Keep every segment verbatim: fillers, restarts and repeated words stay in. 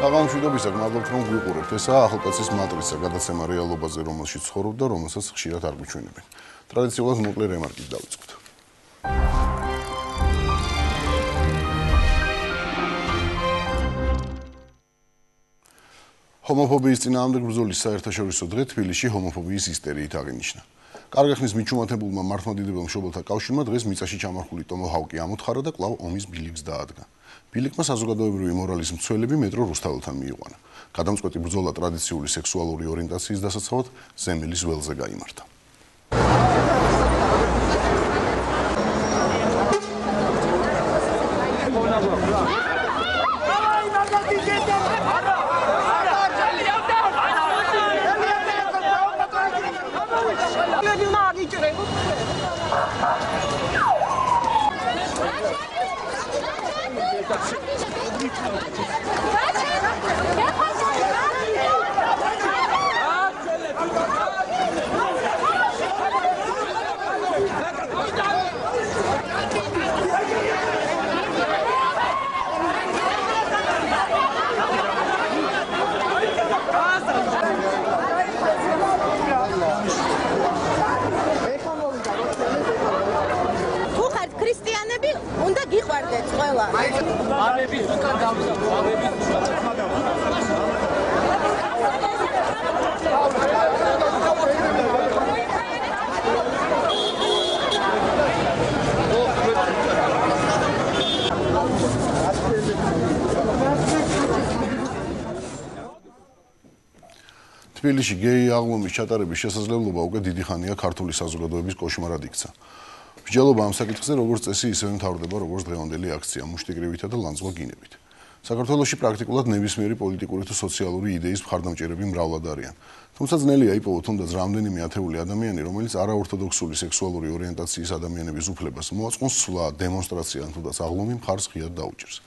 საღამოშვიდობისა გმადლობთ რომ გვიყურებთ. ესაა ახალკაცის მატრიცა, გადაცემა რეალობაზე, რომელშიც ცხოვრობ და რომელსაც ხშირად არ გვიჩვენებენ. ტრადიციულად მოკლე რემარკით დავიწყოთ. ჰომოფობიის წინააღმდეგ ბრძოლის საერთაშორისო დღე თბილისში ჰომოფობიის ისტერიით აღინიშნა. კარგი ხნის მიჩუმათებულმა მართლმადიდებელ მშობელთა კავშირმა დღეს მიწაში ჩამარხული ტომოჰავკი ამოთხარა და კვლავ ომის ბილიკს დაადგა. ბილიკმა საზოგადოებრივი მორალის მცველები მეტრო რუსთაველთან მიიყვანა. გადამწყვეტი ბრძოლა ტრადიციული სექსუალური ორიენტაციის დასაცავად ზემილის ველზე გაიმართა. უნდა გიყვარდეთ ყველა. მამების უკან დავიდა, მამების თბილისში გეი აღლუმის ჩატარების შესაძლებლობა უკვე დიდი ხანია ქართული საზოგადოების კოშმარად იქცა. მსჯელობა ამ საკითხზე როგორც წესი ისევე მთავრდება როგორც დღევანდელი აქცია მუშტიკრივითა და ლანძღვა გინებით. საქართველოში პრაქტიკულად ნებისმიერი პოლიტიკური თუ სოციალური იდეის მხარდამჭერები მრავლად არიან. თუმცა ძნელია იპოვოთ თუნდაც რამდენიმე ათეული ადამიანი, რომელიც არაორთოდოქსული სექსუალური ორიენტაციის ადამიანების უფლებას მოაწყონს სვლა, დემონსტრაცია ან თუნდაც აღლუმი მხარს ღიად დაუჭერს.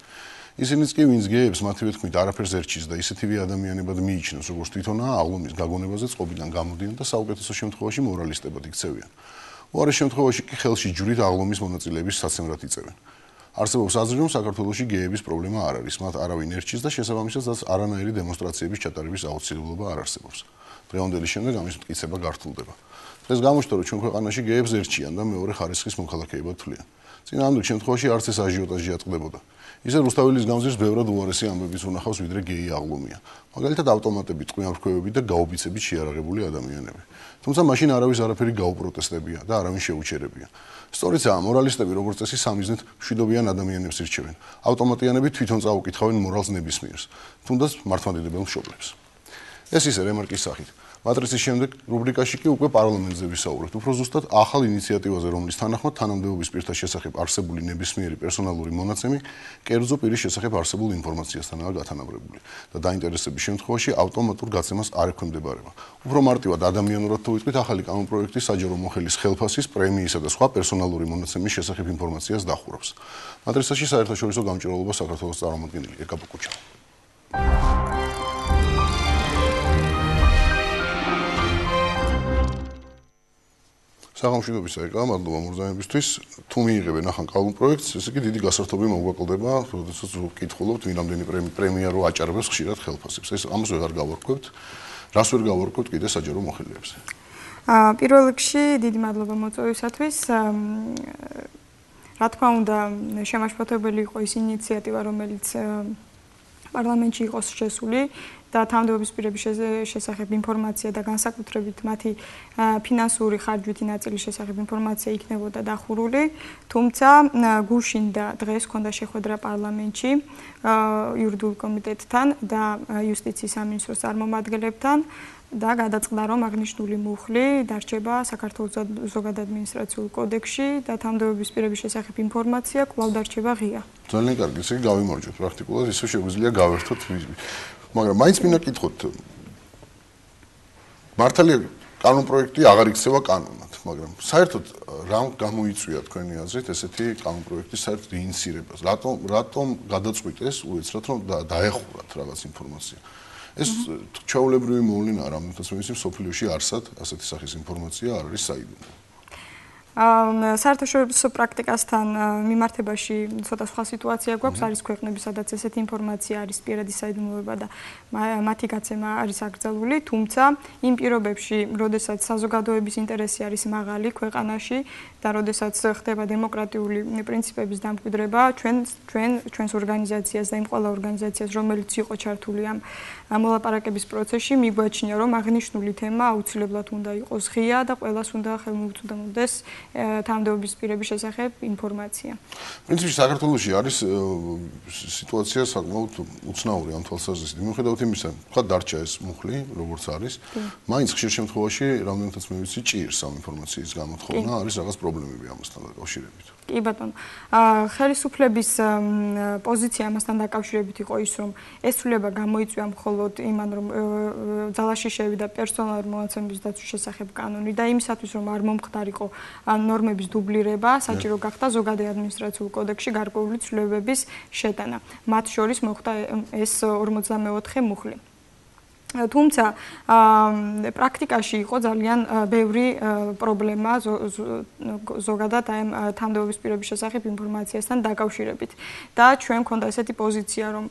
ისინიც კი ვინც გეებს მათივე თქმით არაფერს ერჩის და ისეთივე ადამიანებად მიიჩნევს, როგორც თვითონაა აღლუმის გაგონებაზე წყობიდან გამოდიან და საუკეთესო შემთხვევაში მორალისტებად იქცევიან. უარეს შემთხვევაში კი ხელში ჯვრით აღლუმის მონაწილეების საცემრად იწევენ. არსებობს აზრი, რომ საქართველოში გეების პრობლემა არ არის, მათ არავინ ერჩის და შესაბამისად არანაირი დემონსტრაციების ჩატარების აუცილებლობა არ არსებობს. დღევანდელი შემდეგ ამის მტკიცება გართულდება. დღეს გამოჩნდა, რომ ჩვენ ქვეყანაში გეებს ერჩიან და მეორე ხარისხის მოქალაქეებად თვლიან. წინააღმდეგ შემთხვევაში არც ეს აჟიოტაჟი ატყდებოდა. ისე რუსთაველის გამზირს ბევრად უარესი ამბების უნახავს, ვიდრე გეი აღლუმია. მაგალითად ავტომატები, ტყვიამფრქვევები და გაუბიცებით შეარაღებული ადამიანები. თუმცა მაშინ არავის არაფერი გაუპროტესტებია და არავინ შეუჩერებია. სწორიცაა, მორალისტები როგორც წესი სამიზნედ მშვიდობიან ადამიანებს ირჩევენ. ავტომატიანები თვითონ წაუკითხავენ მორალს ნებისმიერს, თუნდაც მართლმადიდებელ მშობლებს. ეს ისე რემარკის სახით. მატრიცის შემდეგ რუბრიკაში კი უკვე პარლამენტზე ვისაუბრებთ. უფრო ზუსტად ახალ ინიციატივაზე, რომლის თანახმად თანამდებობის პირთა შესახებ არსებული ნებისმიერი პერსონალური მონაცემი კერძო პირის შესახებ არსებულ ინფორმაციასთანაა გათანაბრებული და დაინტერესების შემთხვევაში ავტომატურ გაცემას არ ექვემდებარება. უფრო მარტივად ადამიანურად თუ ვიტყვით, ახალი კანონპროექტი საჯარო მოხელის ხელფასის, პრემიისა და სხვა პერსონალური მონაცემის შესახებ ინფორმაციას დახურავს. მატრიცაში საერთაშორისო გამჭირვალობა საქართველოს წარმომადგენელი ეკა პუკუჩა. საღამოშვიდობისა ეკა, მადლობა მურზაებისთვის. თუ მიიღებენ ახალ კანონპროექტს, ესე იგი დიდი გასართობი მოგვაკლდება, როდესაც ვკითხულობთ, ვინ რამდენი პრემია რო აჭარბებს ხშირად ხელფასებს. ეს ამას ვეღარ გავარკვევთ. რას ვერ გავარკვევთ კიდე საჯარო მოხელიებზე? აა პირველ რიგში დიდი მადლობა მოწვევისათვის. რა თქმა უნდა, შემაშფოთებელი იყო ის ინიციატივა, რომელიც პარლამენტში იყოს შესული და თანამდებობის პირების შესახებ ინფორმაცია და განსაკუთრებით მათი ფინანსური ხარჯვითი ნაწილის შესახებ ინფორმაცია იქნებოდა დახურული, თუმცა გუშინ და დღეს ჰქონდა შეხვედრა პარლამენტში იურიდიულ კომიტეტთან და იუსტიციის სამინისტროს წარმომადგენლებთან და გადაწყდა, რომ აღნიშნული მუხლი დარჩება საქართველოს ზოგადადმინისტრაციულ კოდექსში და თანამდებობის პირების შესახებ ინფორმაცია კვლავ დარჩება ღია. ძალიან კარგი, ესე იგი გავიმარჯვოთ პრაქტიკულად, ისე შეგვიძლია გავერთოთ. მაგრამ მაინც მინდა კითხოთ. მართალია კანონპროექტი აღარ იქცევა კანონად, მაგრამ საერთოდ რა გამოიწვია თქვენი აზრით ესეთი კანონპროექტის საერთოდ ინიციირებას? რატომ რატომ გადაწყვიტეს უეცრად რომ დაეხურათ რაღაც ინფორმაცია? ეს ჩვეულებრივი მოვლენაა, რამეთაც მე ვიცი, სოფლიოში არსად ასეთი სახის ინფორმაცია არ არის საიდუმლო. საერთაშორისო პრაქტიკასთან მიმართებაში ცოტა სხვა სიტუაცია გვაქვს, არის ქვეყნები, სადაც ესეთი ინფორმაცია არის პირადი საიდუმლოება და მათი გაცემა არის აკრძალული, თუმცა იმ პირობებში, როდესაც საზოგადოების ინტერესი არის მაღალი ქვეყანაში და როდესაც ხდება დემოკრატიული პრინციპების დამკვიდრება, ჩვენ ჩვენ ჩვენს ორგანიზაციას და იმ ყველა ორგანიზაციას, რომელიც იყო ჩართული ამ მოლაპარაკების პროცესში, მიგვაჩნია, რომ აღნიშნული თემა აუცილებლად უნდა იყოს ღია და ყველას უნდა ხელმოუწვდომოდეს თანამდებობის პირების შესახებ ინფორმაცია. პრინციპში საქართველოში არის სიტუაცია საკმაოდ უცნაური ამ თვალსაზრისით. მიუხედავად იმისა, თქვა დარჩა ეს მუხლი, როგორც არის, მაინც ხშირ შემთხვევაში, რამდენადაც მე ვიცი, ჭირს ამ ინფორმაციის გამოთხოვნა, არის რაღაც პრობლემები ამასთან დაკავშირებით. კი ბატონო. ხელისუფლების პოზიცია ამასთან დაკავშირებით იყო ის, რომ ეს ცვლილება გამოიწვია მხოლოდ იმან, რომ ძალაში შევიდა პერსონალური მონაცემების დაცვის შესახებ კანონი და იმისათვის, რომ არ მომხდარიყო ნორმების დუბლირება, საჭირო გახდა ზოგადი ადმინისტრაციულ კოდექსში გარკვეული ცვლილებების შეტანა. მათ შორის მოხდა ეს ორმოცდამეოთხე მუხლი. თუმცა პრაქტიკაში იყო ძალიან ბევრი პრობლემა ზოგადად აი თანამდებობის პირების შესახებ ინფორმაციასთან დაკავშირებით და ჩვენ გვქონდა ესეთი პოზიცია, რომ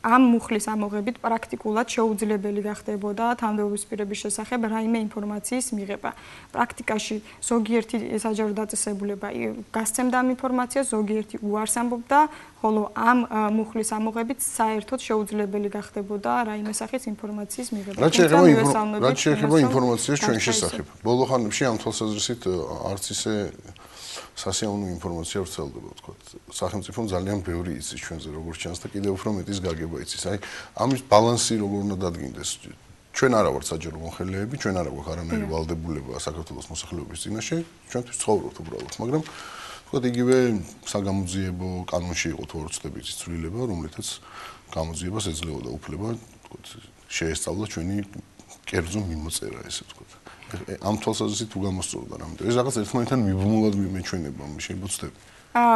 ამ მუხლის ამოღებით პრაქტიკულად შეუძლებელი გახდებოდა თანამდებობის პირების შესახებ რაიმე ინფორმაციის მიღება. პრაქტიკაში ზოგიერთი საჯარო დაწესებულება გასცემდა ამ ინფორმაციას, ზოგიერთი უარს ამბობდა, ხოლო ამ მუხლის ამოღებით საერთოდ შეუძლებელი გახდებოდა რაიმე სახის ინფორმაციის მიღება. რაც შეეხება ინფორმაციას ჩვენ შესახებ. ბოლო ხანებში ამ თვალსაზრისით არც ისე სასიამოვნო ინფორმაცია ვრცელდება, ვთქვათ. სახელმწიფომ ძალიან ბევრი იცის ჩვენზე, როგორც ჩანს და კიდევ უფრო მეტის გაგება იცის. აი, ამის ბალანსი როგორ უნდა დადგინდეს? ჩვენ არა ვართ საჯარო მომხელეები, ჩვენ არა გვაქვს არანაირი ვალდებულება საქართველოს მოსახლეობის წინაშე, ჩვენთვის ცხოვრობთ უბრალოდ, მაგრამ ვთქვათ, იგივე საგამოძიებო კანონში იყო თუ არ ვცდებით ცვლილება, რომლითაც გამოძიებას ეძლეოდა უფლება, ვთქვათ, შეესწავლა ჩვენი კერძო მიმოწერა, ესე ვთქვათ. ამ თვალსაზრისით თუ გამოსწორდა რამდენი ეს რაღაც ერთმანეთთან მიბმულად მიმეჩვენება შეიძლება.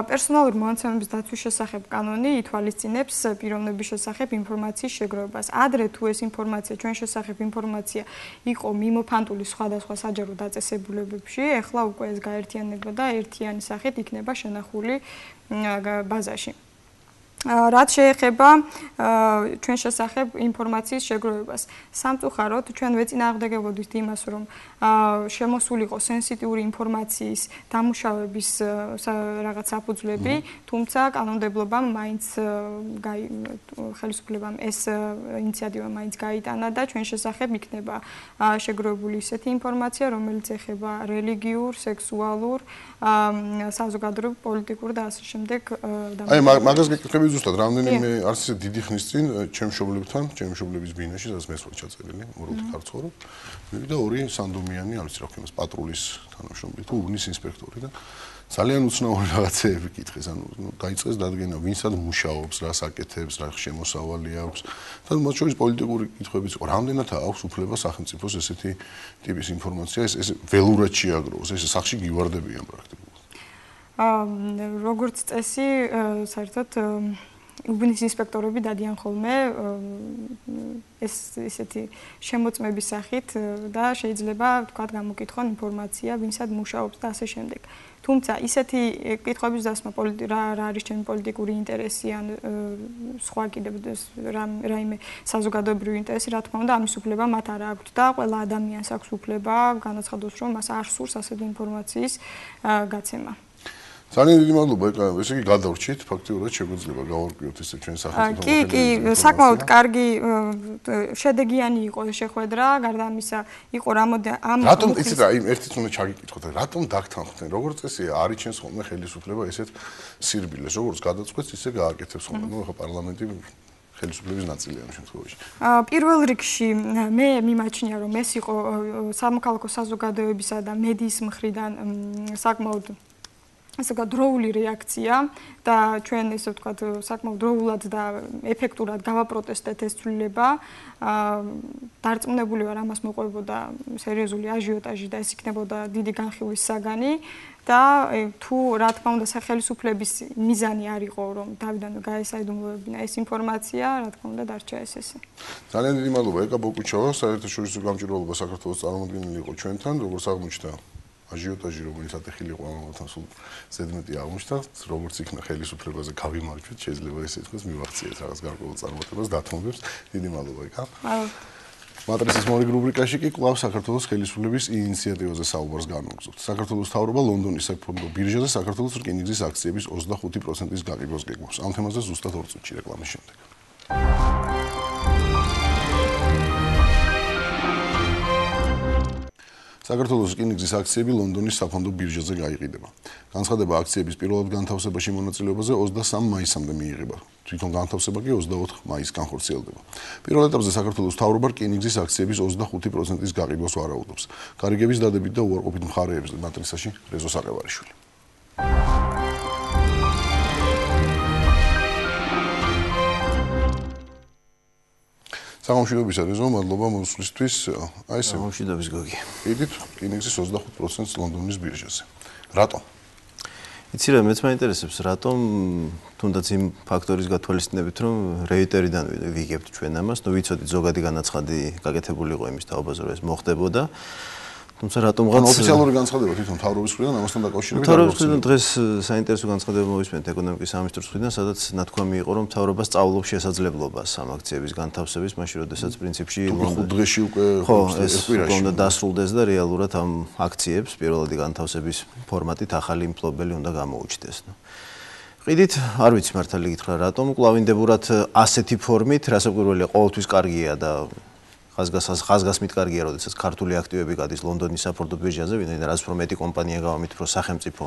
პერსონალური მონაცემების დაცვის შესახებ კანონი ითვალისწინებს პიროვნების შესახებ ინფორმაციის შეგროვებას. ადრე თუ ეს ინფორმაცია, ჩვენ შესახებ ინფორმაცია იყო მიმოფანტული სხვადასხვა საჯარო დაწესებულებებში, ეხლა უკვე ეს გაერთიანება და ერთიანი სახით იქნება შენახული ბაზაში. რაც შეეხება ჩვენ შესახებ ინფორმაციის შეგროვებას. სამწუხაროდ ჩვენ ვეწინააღმდეგებოდით იმას, რომ შემოსულიყო სენსიტიური ინფორმაციის დამუშავების რაღაც საფუძვლები, თუმცა კანონმდებლობამ მაინც ხელისუფლებამ ეს ინიციატივა მაინც გაიტანა და ჩვენ შესახებ იქნება შეგროვებული ისეთი ინფორმაცია, რომელიც ეხება რელიგიურ, სექსუალურ, საზოგადოებრივ, პოლიტიკურ და ასე შემდეგ დამოკიდებულებას. აი მაგას გეკითხები ზუსტად რამდენიმე არც ისე დიდი ხნის წინ ჩემ მშობლებთან, ჩემ მშობლების ბინაში, სადაც მეც ვარ ჩაწერილი, მორალდ ქარცხოვრო. მივიდა ორი სანდომიანი, არ ვიცი რა ქვია, პატრულის თანამშრომელი თუ ურნის ინსპექტორი და ძალიან უცნაური რაღაცეები კითხეს, ანუ დაიწყეს დადგენა, ვინსად მუშაობს, რას აკეთებს, რა შემოსავალი აქვს. და მათ შორის პოლიტიკური კითხვებიც იყო, რამდენად აქვს უფლება სახელმწიფოს ესეთი ტიპის ინფორმაცია, ეს ეს ველურად შეაგროვოს, ეს სახში გივარდებიან პრაქტიკულად. როგორც წესი, საერთოდ უბნის ინსპექტორები დადიან ხოლმე ეს ესეთი შემოწმების სახით და შეიძლება თქვათ გამოკითხონ ინფორმაცია, ვინსად მუშაობს და ასე შემდეგ. თუმცა ისეთი კითხვების დასმა რა არის ჩემი პოლიტიკური ინტერესი ან სხვა კიდევ რაიმე საზოგადოებრივი ინტერესი, რა თქმა უნდა, ამის უფლება მათ არ აქვთ და ყველა ადამიანს აქვს უფლება განაცხადოს, რომ მას არ სურს ასეთი ინფორმაციის გაცემა. ძალიან დიდი მადლობა, ესე იგი გადავრჩით, ფაქტიურად შეგვიძლია გავარკვიოთ ესე ჩვენ სახელმწიფო. კი, კი, საკმაოდ კარგი შედეგიანი იყო შეხვედრა, გარდა ამისა, იყო რამოდენ ამ რატომ იცით რა, იმ ერთიც უნდა ჩაგიკითხოთ, რატომ დაგთანხმდნენ? როგორც წესია, არის ჩვენს ხოლმე ხელისუფლება ესეთ სირბილეს, როგორც გადაწყვეტს, ისე გააკეთებს ხოლმე. ნუ ახლა პარლამენტი ხელისუფლების ნაწილია ამ შემთხვევაში. პირველ რიგში მე მიმაჩნია, რომ ეს იყო სამოქალაქო საზოგადოებისა და მედიის მხრიდან საკმაოდ ასე გადროული რეაქცია და ჩვენ ესე ვთქვათ საკმაოდ დროულად და ეფექტურად გავაპროტესტეთ ეს ცვლილება. დარწმუნებული ვარ, ამას მოყვებოდა სერიოზული აჟიოტაჟი და ეს იქნებოდა დიდი განხილვის საგანი და თუ რა თქმა უნდა სახელისუფლების მიზანი არ იყო რომ დავიდანვე გაესაიდუმლოებინა ეს ინფორმაცია, რა თქმა უნდა დარჩა ეს ესე. ძალიან დიდი მადლობა ეკა ბოკუჩავა, საერთაშორისო გამჭირვალობა საქართველოს წარმომადგენელი იყო ჩვენთან, როგორც აღმოჩნდა აჟიოტაჟი რომელიც ატეხილი ყველამათან სულ ზედმეტი აღმოჩნდა, როგორც იქნა ხელისუფლებაზე გავიმარჯვეთ, შეიძლება ესე ითქვას, მივახციეთ რაღაც გარკვეულ წარმატებას, დათმობებს. დიდი მადლობა იკა. მატრიცის მორიგ რუბრიკაში კი კვლავ საქართველოს ხელისუფლების ინიციატივაზე საუბარს განვაგრძობთ. საქართველოს მთავრობა ლონდონის საფონდო ბირჟაზე საქართველოს რკინიგზის აქციების ოცდახუთი პროცენტის გაყიდვას გეგმავს. ამ თემაზე ზუსტად ორ წუთში რეკლამის შემდეგ. საქართველოს რკინიგზის აქციები ლონდონის საფონდო ბირჟაზე გაიყიდება. განცხადება აქციების პირველად განთავსებაში მონაწილეობაზე ოცდასამ მაისამდე მიიღება. თვითონ განთავსება კი ოცდაოთხ მაისს განხორციელდება. პირველ ეტაპზე საქართველოს მთავრობა რკინიგზის აქციების ოცდახუთი პროცენტის გაყიდვას ვარაუდობს. გარიგების დადებით და უარყოფით მხარეების მატრიცაში რეზო საყევარიშვილი. სამშვიდობისა რეზო, მადლობა მოსვლისთვის. აი ესე. სამშვიდობის გოგი. კიდით რკინიგზის ოცდახუთ პროცენტს ლონდონის ბირჟაზე. რატომ? იცი რა, მეც მაინტერესებს, რატომ თუნდაც იმ ფაქტორის გათვალისწინებით, რომ რეიტერიდან ვიგებთ ჩვენ ამას, ნუ ვიცოდით ზოგადი განაცხადი გაკეთებული იყო იმის თაობაზე, რომ ეს მოხდებოდა. თუმცა რატომღაც ოფიციალური განცხადება თვითონ მთავრობის მხრიდან ამასთან დაკავშირებით მთავრობის მხრიდან დღეს საინტერესო განცხადება მოვისმენთ ეკონომიკის სამინისტროს მხრიდან, სადაც ნათქვამი იყო, რომ მთავრობა სწავლობს შესაძლებლობას ამ აქციების განთავსების, მაშინ როდესაც პრინციპში ხუთ დღეში უკვე ხო ეს უნდა დასრულდეს და რეალურად ამ აქციებს პირველადი განთავსების ფორმატით ახალი მფლობელი უნდა გამოუჩნდეს. ყიდით, არ ვიცი მართალი გითხრა, რატომ კლავინდებურად ასეთი ფორმით, რასაკვირველია, ყოველთვის კარგია და ხაზგასმით კარგია, როდესაც ქართული აქტივები გადის ლონდონის საფონდო ბირჟაზე, ვინაიდან რაც უფრო მეტი კომპანია გავამით, უფრო სახელმწიფო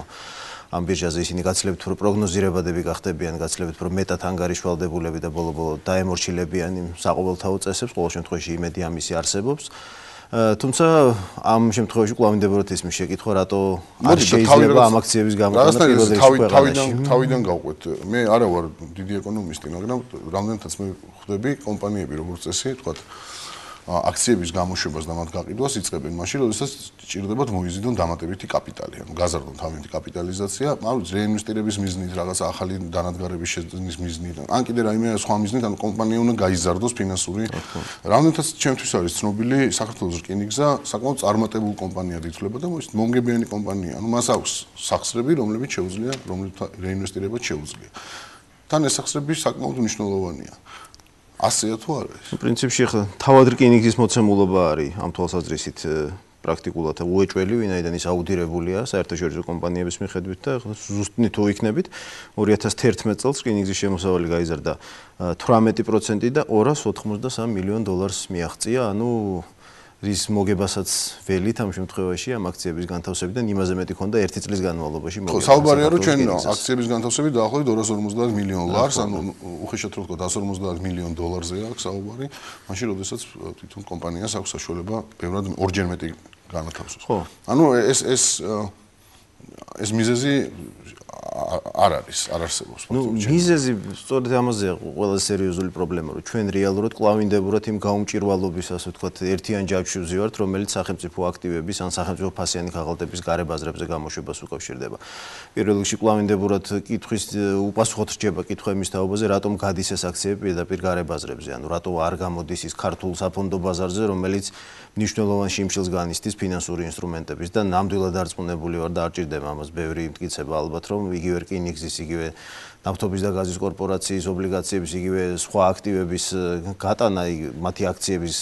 ამ ბირჟაზე ისინი გაცილებით უფრო პროგნოზირებადები გახდებიან, გაცილებით უფრო მეტად ანგარიშვალდებულები და ბოლო-ბოლო დაემორჩილებიან იმ საყოველთაო წესებს, ყოველ შემთხვევაში იმედი ამისი არსებობს. თუმცა ამ შემთხვევაში კლავინდებურად ისმის შეკითხვა, რატო არ შეიძლება ამ აქციების გამოტანა პირველ რიგში ქვეყანაში. თავიდან გავყვეთ. მე არა ვარ დიდი ეკონომისტი, მაგრამ რამდენადაც მე ხვდები კომპანიები როგორც წესი, თქვა აქციების გამოშვებას და მათ გაყიდვას იწყებენ მაშინ, როდესაც ჭირდებათ მოიზიდონ დამატებითი კაპიტალი, ანუ გაზარდონ თავიანთი კაპიტალიზაცია, ანუ რეინვესტირების მიზნით, რაღაც ახალი დანადგარების შეძენის მიზნით, ან კიდე რაიმე სხვა მიზნით, ანუ კომპანია უნდა გაიზარდოს ფინანსური. რამდენადაც ჩემთვის არის ცნობილი, საქართველოს რკინიგზა საკმაოდ წარმატებულ კომპანიად ითვლება და მომგებიანი კომპანია, ანუ მას აქვს სახსრები, რომლებიც შეუძლია, რომლებიც რეინვესტირება შეუძლია. თან ეს სახსრები საკმაოდ მნიშვნელოვანია. ასეა თუ არა ეს? პრინციპში ხა თავად რკინიგზის მოცემულობა არის ამ თვალსაზრისით პრაქტიკულად უეჭველი, ვინაიდან ის აუდირებულია საერთაშორისო კომპანიების მიხედვით და ზუსტი თუ იქნებით ორი ათას თერთმეტ წელს რკინიგზის შემოსავალი გაიზარდა თვრამეტი პროცენტი და ორას ოთხმოცდასამ მილიონ დოლარს მიაღწია, ანუ რის მოგებასაც ველით ამ შემთხვევაში ამ აქციების განთავსებიდან იმაზე მეტი ქონდა ერთი წლის განმავლობაში მოგება. ხო, საუბარია რომ ჩვენ აქციების განთავსებით დაახლოებით ორას ორმოცდაათ მილიონ ლარს, ანუ უხეშად რო ვთქვა, εκατს ორმოცდაათ მილიონ დოლარზე აქვს საუბარი, მაშინ როდესაც თვითონ კომპანიას აქვს საშუალება ბევრად ორჯერ მეტი განათავსოს. ხო. ანუ ეს ეს ეს მიზეზი არ არის, არ არსებობს. ნუ მიზეზი სწორედ ამაზეა ყველაზე სერიოზული პრობლემა, რომ ჩვენ რეალურად კლავინდებურად იმ გაუმჭირვალობის, ასე ვთქვათ, ერთიან ჯაჭვში ვზივართ, რომელიც სახელმწიფო აქტივების ან სახელმწიფო ფასიანი ქაღალდების გარებაზრებზე გამოშვებას უკავშირდება. პირველ რიგში კლავინდებურად კითხვის უპასუხოდ რჩება კითხვა იმის თაობაზე, რატომ გადის ეს აქციები პირდაპირ გარებაზრებზე, ანუ რატო არ გამოდის ის ქართულ საფონდო ბაზარზე, რომელიც მნიშვნელოვან შიმშილს განიცდის ფინანსური ინსტრუმენტების და ნამდვილად დარწმუნებული ვარ და არ ჭირდება ამას ბევრი მტკიცება ალბათ, რომ იგივე რკინიგზის, იგივე ნავთობის და გაზის კორპორაციის ობლიგაციების, იგივე სხვა აქტივების გატანა, მათი აქციების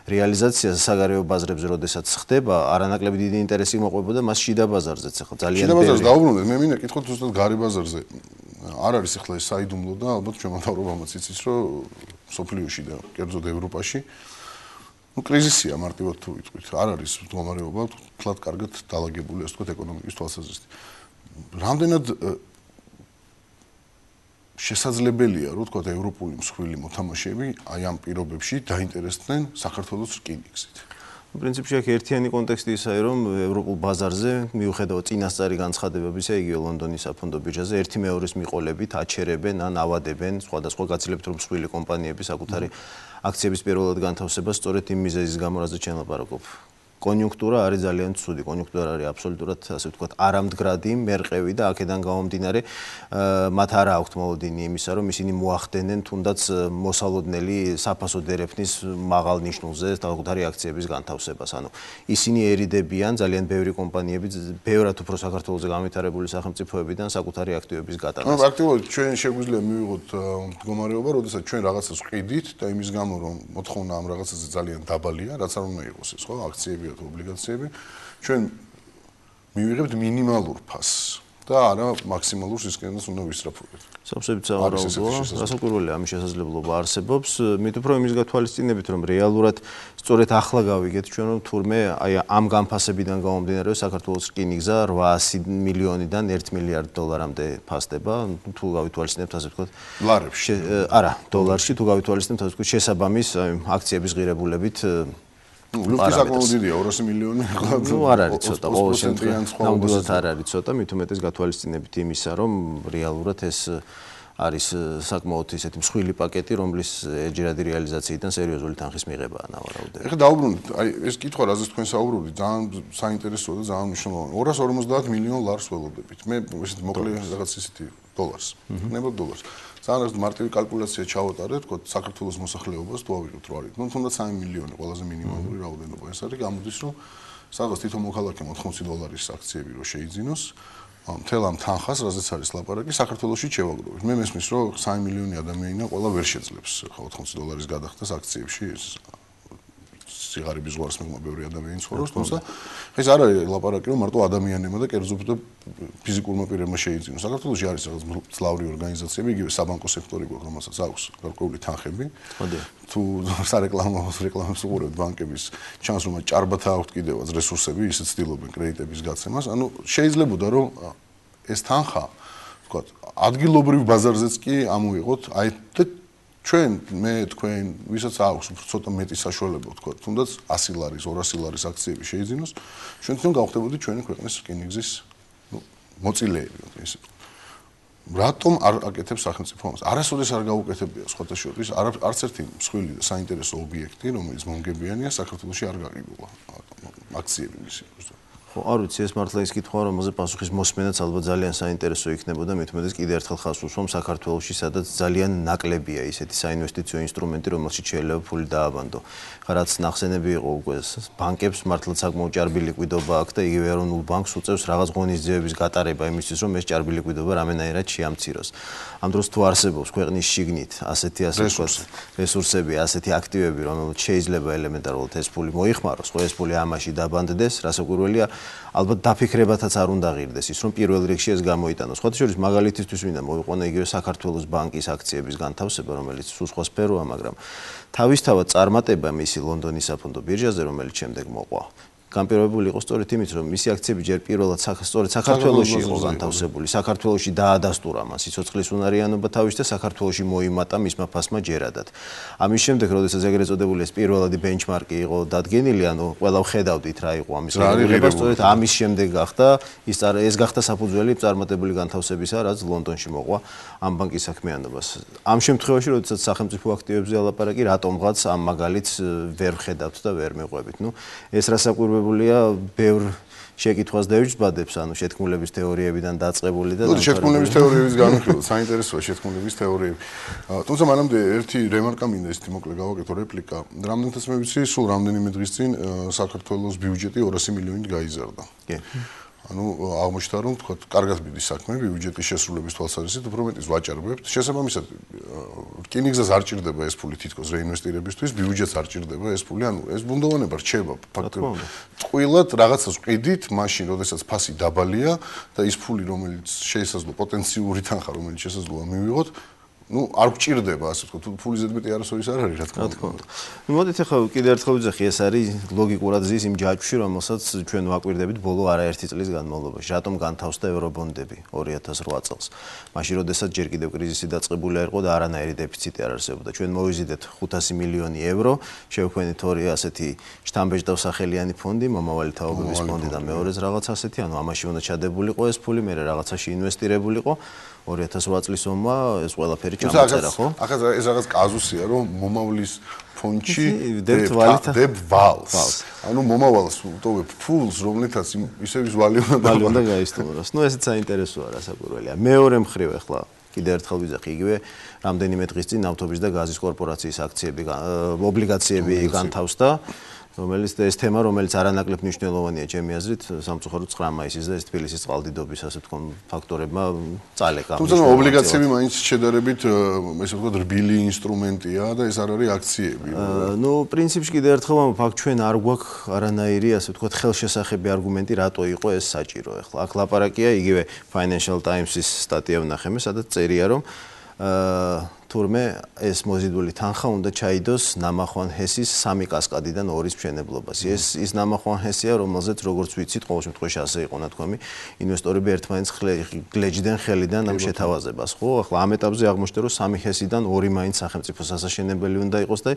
რეალიზაცია საგარეო ბაზრებზე, როდესაც ხდება, არანაკლები დიდი ინტერესი მოყვებოდა მას შიდა ბაზარზეც, ახლა ძალიან შიდა ბაზარზე დაუბრუნდეთ, მე მინდა კითხოთ ზუსტად გარე ბაზარზე. არ არის ახლა ეს საიდუმლო და ალბათ ჩვენ მთავრობამაც იცის, რომ სოფლიოში და კერძოდ ევროპაში ну კრიზისია მარტივად თუ ვიტყვით, არ არის მდგომარეობა თლად კარგად დალაგებული, ასე ვთქვათ, ეკონომიკის თვალსაზრისით. რამდენად შესაძლებელია, რომ ვთქვათ, ევროპული მსხვილი მოთამაშეები აი ამ პირობებში დაინტერესდნენ საქართველოს რკინიგზით. პრინციპში აქ ერთიანი კონტექსტი ისაა, რომ ევროპულ ბაზარზე მიუხედავად წინასწარი განცხადებებისა, იგივე ლონდონის საფონდო ბირჟაზე ერთი მეორის მიყოლებით აჩერებენ ან ავადებენ სხვადასხვა გაცილებით რომ მსხვილი კომპანიები საკუთარი აქციების პირველად განთავსებას სწორედ იმ მიზეზის გამო, რაზეც ჩვენ ლაპარაკობ. კონიუნქტურა არის ძალიან ცუდი. კონიუნქტურა არის აბსოლუტურად, ასე ვთქვათ, არამდგრადი, მერყევი და აქედან გამომდინარე მათ არ აქვთ მოლოდინი იმისა, რომ ისინი მოახდენენ თუნდაც მოსალოდნელი საფასო დერეფნის მაღალ ნიშნულზე თავგადარი აქციების განთავსებას. ანუ ისინი ერიდებიან ძალიან ბევრი კომპანიები, ბევრად უფრო საქართველოზე განვითარებული სახელმწიფოებიდან საკუთარი აქტივების გატანას. ანუ პრაქტიკულად ჩვენ შეგვიძლია მივიღოთ მდგომარეობა, როდესაც ჩვენ რაღაცას ვყიდით და იმის გამო რომ მოთხოვნა ამ რაღაცაზე ძალიან დაბალია, რაც არ უნდა იყოს ეს, ხო, აქციები თუ ობლიგაციები, ჩვენ მივიღებთ მინიმალურ ფასს და არა მაქსიმალურ სისკენას უნდა ვისწრაფოთ. სავსებით სავარაუდოა, რასაკვირველია ამის შესაძლებლობა არსებობს, მით უფრო იმის გათვალისწინებით, რომ რეალურად სწორედ ახლა გავიგეთ ჩვენ, რომ თურმე აი ამ განფასებიდან გამომდინარე, საქართველოს რკინიგზა რვაასი მილიონიდან ერთ მილიარდ დოლარამდე ფასდება, თუ გავითვალისწინებთ, ასე ვთქვათ, ლარებში. არა, დოლარში თუ გავითვალისწინებთ, ასე ვთქვათ, შესაბამის აქციების ღირებულებით ლუფტი საკმაოდ დიდია, ორასი მილიონი. ნუ არ არის ცოტა, ყოველ შემთხვევაში ნამდვილად არ არის ცოტა, მით უმეტეს გათვალისწინებით იმისა, რომ რეალურად ეს არის საკმაოდ ისეთი მსხვილი პაკეტი, რომლის ეჯერადი რეალიზაციიდან სერიოზული თანხის მიღებაა ნავარაუდები. ეხლა დაუბრუნდით, აი ეს კითხვა, რაზეც თქვენ საუბრობდით, ძალიან საინტერესოა და ძალიან მნიშვნელოვანი. ორას ორმოცდაათ მილიონ ლარს ველოდებით. მე ესეთ მოკლე რაღაც ისეთი დოლარს. ნება დოლარს. ძალიან მარტივი კალკულაცია ჩავატარეთ, თქო, საქართველოს მოსახლეობას თუ ავიღოთ რა არის. ნუ თუნდაც სამი მილიონი ყველაზე მინიმალური რაოდენობა ეს არის, გამოდის რომ სადღაც თითო მოქალაქემ ოთხმოცი დოლარის აქციები რო შეიძინოს, მთელ ამ თანხას, რაზეც არის ლაპარაკი, საქართველოში შევაგროვოთ. მე მესმის, რომ სამი მილიონი ადამიანია, ყველა ვერ შეძლებს ოთხმოცი დოლარის გადახდას აქციებში. სიგარების ზღვარს მიღმა ბევრი ადამიანი ცხოვრობს, თუმცა ეს არ არის ლაპარაკი, რომ მარტო ადამიანებმა და კერძოდ ფიზიკურმა პირებმა შეიძინოს. საქართველოში არის რაღაც მძლავრი ორგანიზაციები, იგივე საბანკო სექტორი გვაქვს, რომელსაც აქვს გარკვეული თანხები. თუ სარეკლამო რეკლამებს უყურებთ ბანკების, ჩანს რომ ჭარბათა აქვთ კიდევაც რესურსები, ისე ცდილობენ კრედიტების გაცემას. ანუ შეიძლებოდა რომ ეს თანხა, ვთქვათ, ადგილობრივ ბაზარზეც კი ამოიღოთ, აი და ჩვენ მე თქვენ ვისაც აქვს ცოტა მეტი საშუალება ვთქვათ, თუნდაც ასი ლარის, ორასი ლარის აქციები შეიძინოს, ჩვენ თვითონ გავხდებოდით ჩვენი ქვეყნის რკინიგზის, ნუ, მოწილეები, ესე. რატომ არ აკეთებს სახელმწიფო ამას? არასოდეს არ გაუკეთებია სხვათა შორის, არც ერთი მსხვილი და საინტერესო ობიექტი, რომელიც მომგებიანია, საქართველოში არ გაგიგულა აქციები მისი. ხო, არ ვიცი, ეს მართლა ის კითხვა, რომელზე პასუხის მოსმენაც ალბათ ძალიან საინტერესო იქნებოდა, მით უმეტეს კიდევ ერთხელ ხაზს უსვამ საქართველოში, სადაც ძალიან ნაკლებია ისეთი საინვესტიციო ინსტრუმენტი, რომელშიც შეიძლება ფული დააბანდო. რაც ნახსენები იყო უკვე ბანკებს მართლა საკმაოდ ჭარბი ლიკვიდობა აქვს და იგივე ეროვნულ ბანკს უწევს რაღაც ღონისძიებების გატარება იმისთვის, რომ ეს ჭარბი ლიკვიდობა რამენაირად შეამციროს. ამ დროს თუ არსებობს ქვეყნის შიგნით ასეთი ასე ვთქვათ რესურსები, ასეთი აქტივები, რომელიც შეიძლება ელემენტარულად ეს ფული მოიხმაროს, ხო ეს ფული ამაში დაბანდდეს, რასაკვირველია ალბათ დაფიქრებათაც არ უნდა ღირდეს ის, რომ პირველ რიგში ეს გამოიტანოს. ხოთა შორის მაგალითისთვის მინდა მოვიყვანო იგივე საქართველოს ბანკის აქციების განთავსება, რომელიც სულ სხვა სფეროა, მაგრამ თავისთავად წარმატება მისი ლონდონის საფონდო ბირჟაზე, რომელიც შემდეგ მოყვა. განპირობებული იყო სწორედ იმით, რომ მისი აქციები ჯერ პირველად სწორედ საქართველოში იყო განთავსებული. საქართველოში დაადასტურა მას სიცოცხლის უნარიანობა თავის და საქართველოში მოიმატა მისმა ფასმა ჯერადად. ამის შემდეგ, როდესაც ეგრეთ წოდებული ეს პირველადი ბენჩმარკი იყო დადგენილი, ანუ ყველა ვხედავდით რა იყო ამის რეგულირება, სწორედ ამის შემდეგ გახდა ის ეს გახდა საფუძველი წარმატებული განთავსებისა, რაც ლონდონში მოყვა ამ ბანკის საქმიანობას. ამ შემთხვევაში, როდესაც სახელმწიფო აქტივებზე ალაპარაკი, რატომღაც ამ მაგალითს ვერ ვხედავთ და ვერ მეყვებით. ნუ ეს რასაკვირველია ბევრ შეკითხვას დაიჯბადებს, ანუ შეთქმულების თეორიებიდან დაწყებული და შეთქმულების თეორიების განხილვა, საინტერესოა შეთქმულების თეორიები. თუმცა მანამდე ერთი რემარკა მინდა ისეთი მოკლე გავაკეთო რეპლიკა. რამდენადაც მე ვიცი, სულ რამდენიმე დღის წინ საქართველოს ბიუჯეტი ორასი მილიონით გაიზარდა. კი. ანუ აღმოჩნდა რომ თქვა კარგად მიდის საქმე ბიუჯეტის შესრულების თვალსაზრისით, უფრო მეტის ვაჭარბებთ. შესაბამისად, რკინიგზას არ ჭირდება ეს ფული თითქოს რეინვესტირებისთვის, ბიუჯეტს არ ჭირდება ეს ფული, ანუ ეს ბუნდოვანება რჩება ფაქტობრივად. ტყუილად რაღაცას ვყიდით, მაშინ, როდესაც ფასი დაბალია და ის ფული, რომელიც შესაძლოა პოტენციური თანხა, რომელიც შესაძლოა მივიღოთ, ну, არ გჭირდება, ასე ვთქვათ, თუ ფული ზედმეტი არასოდეს არ არის, რა თქმა უნდა. ნუ მოდით ახლა კიდევ ერთხელ ვიძახი, ეს არის ლოგიკურად ზის იმ ჯაჭვში, რომელსაც ჩვენ ვაკვირდებით ბოლო არაერთი წლის განმავლობაში. რატომ განთავსდა ევრობონდები ორი ათას რვა წელს? მაშინ, როდესაც ჯერ კიდევ კრიზისი დაწყებული არ იყო და არანაირი დეფიციტი არ არსებობდა. ჩვენ მოვიზიდეთ ხუთასი მილიონი ევრო, შევქმნით ორი ასეთი შთამბეჭდავსახელიანი ფონდი, მომავალი თაობების ფონდი და მეორეც რაღაც ასეთი, ანუ ამაში უნდა ჩადებულიყო ეს ფული, მე რაღაცაში ინვესტირებულიყო. ორი ათას რვა წლის ომმა ეს ყველაფერი ჩამოწერა, ხო? ახლა ეს რაღაც კაზუსია, რომ მომავლის ფონდში დებთ ვალით დებ ვალს. ანუ მომავალს ვტოვებ ფულს, რომლითაც ისევ ის ვალი უნდა ვალი უნდა გაისტუმროს. ნუ ესეც საინტერესოა რასაკვირველია. მეორე მხრივ ახლა კიდევ ერთხელ ვიზახი იგივე რამდენიმე დღის წინ ნავთობის და გაზის კორპორაციის აქციები ობლიგაციები განთავსდა, რომელიც ეს თემა, რომელიც არანაკლებ მნიშვნელოვანია ჩემი აზრით, სამწუხაროდ ცხრა მაისის და ეს თბილისის წყალდიდობის ასე თქვა ფაქტორებმა წალეკა. თუმცა ობლიგაციები მაინც შედარებით ესე ვთქვათ რბილი ინსტრუმენტია და ეს არ არის აქციები. ნუ პრინციპში კიდევ ერთხელ ვამბობ, ჩვენ არ გვაქვს არანაირი ასე ვთქვათ ხელშესახები არგუმენტი რატო იყო ეს საჭირო. ახლა აქ ლაპარაკია იგივე Financial Times-ის სტატია ვნახე მე, სადაც წერია რომ თურმე ეს მოზიდული თანხა უნდა ჩაიდოს ნამახვან ჰესის სამი კასკადიდან ორის მშენებლობას. ეს ის ნამახვან ჰესია, რომელზეც როგორც ვიცით, ყოველ შემთხვევაში ასე იყო ნათქვამი, ინვესტორები ერთმანეთს გლეჯდნენ ხელიდან ამ შეთავაზებას, ხო? ახლა ამ ეტაპზე აღმოჩნდა, რომ სამი ჰესიდან ორი მაინც სახელმწიფო სასაშენებელი უნდა იყოს და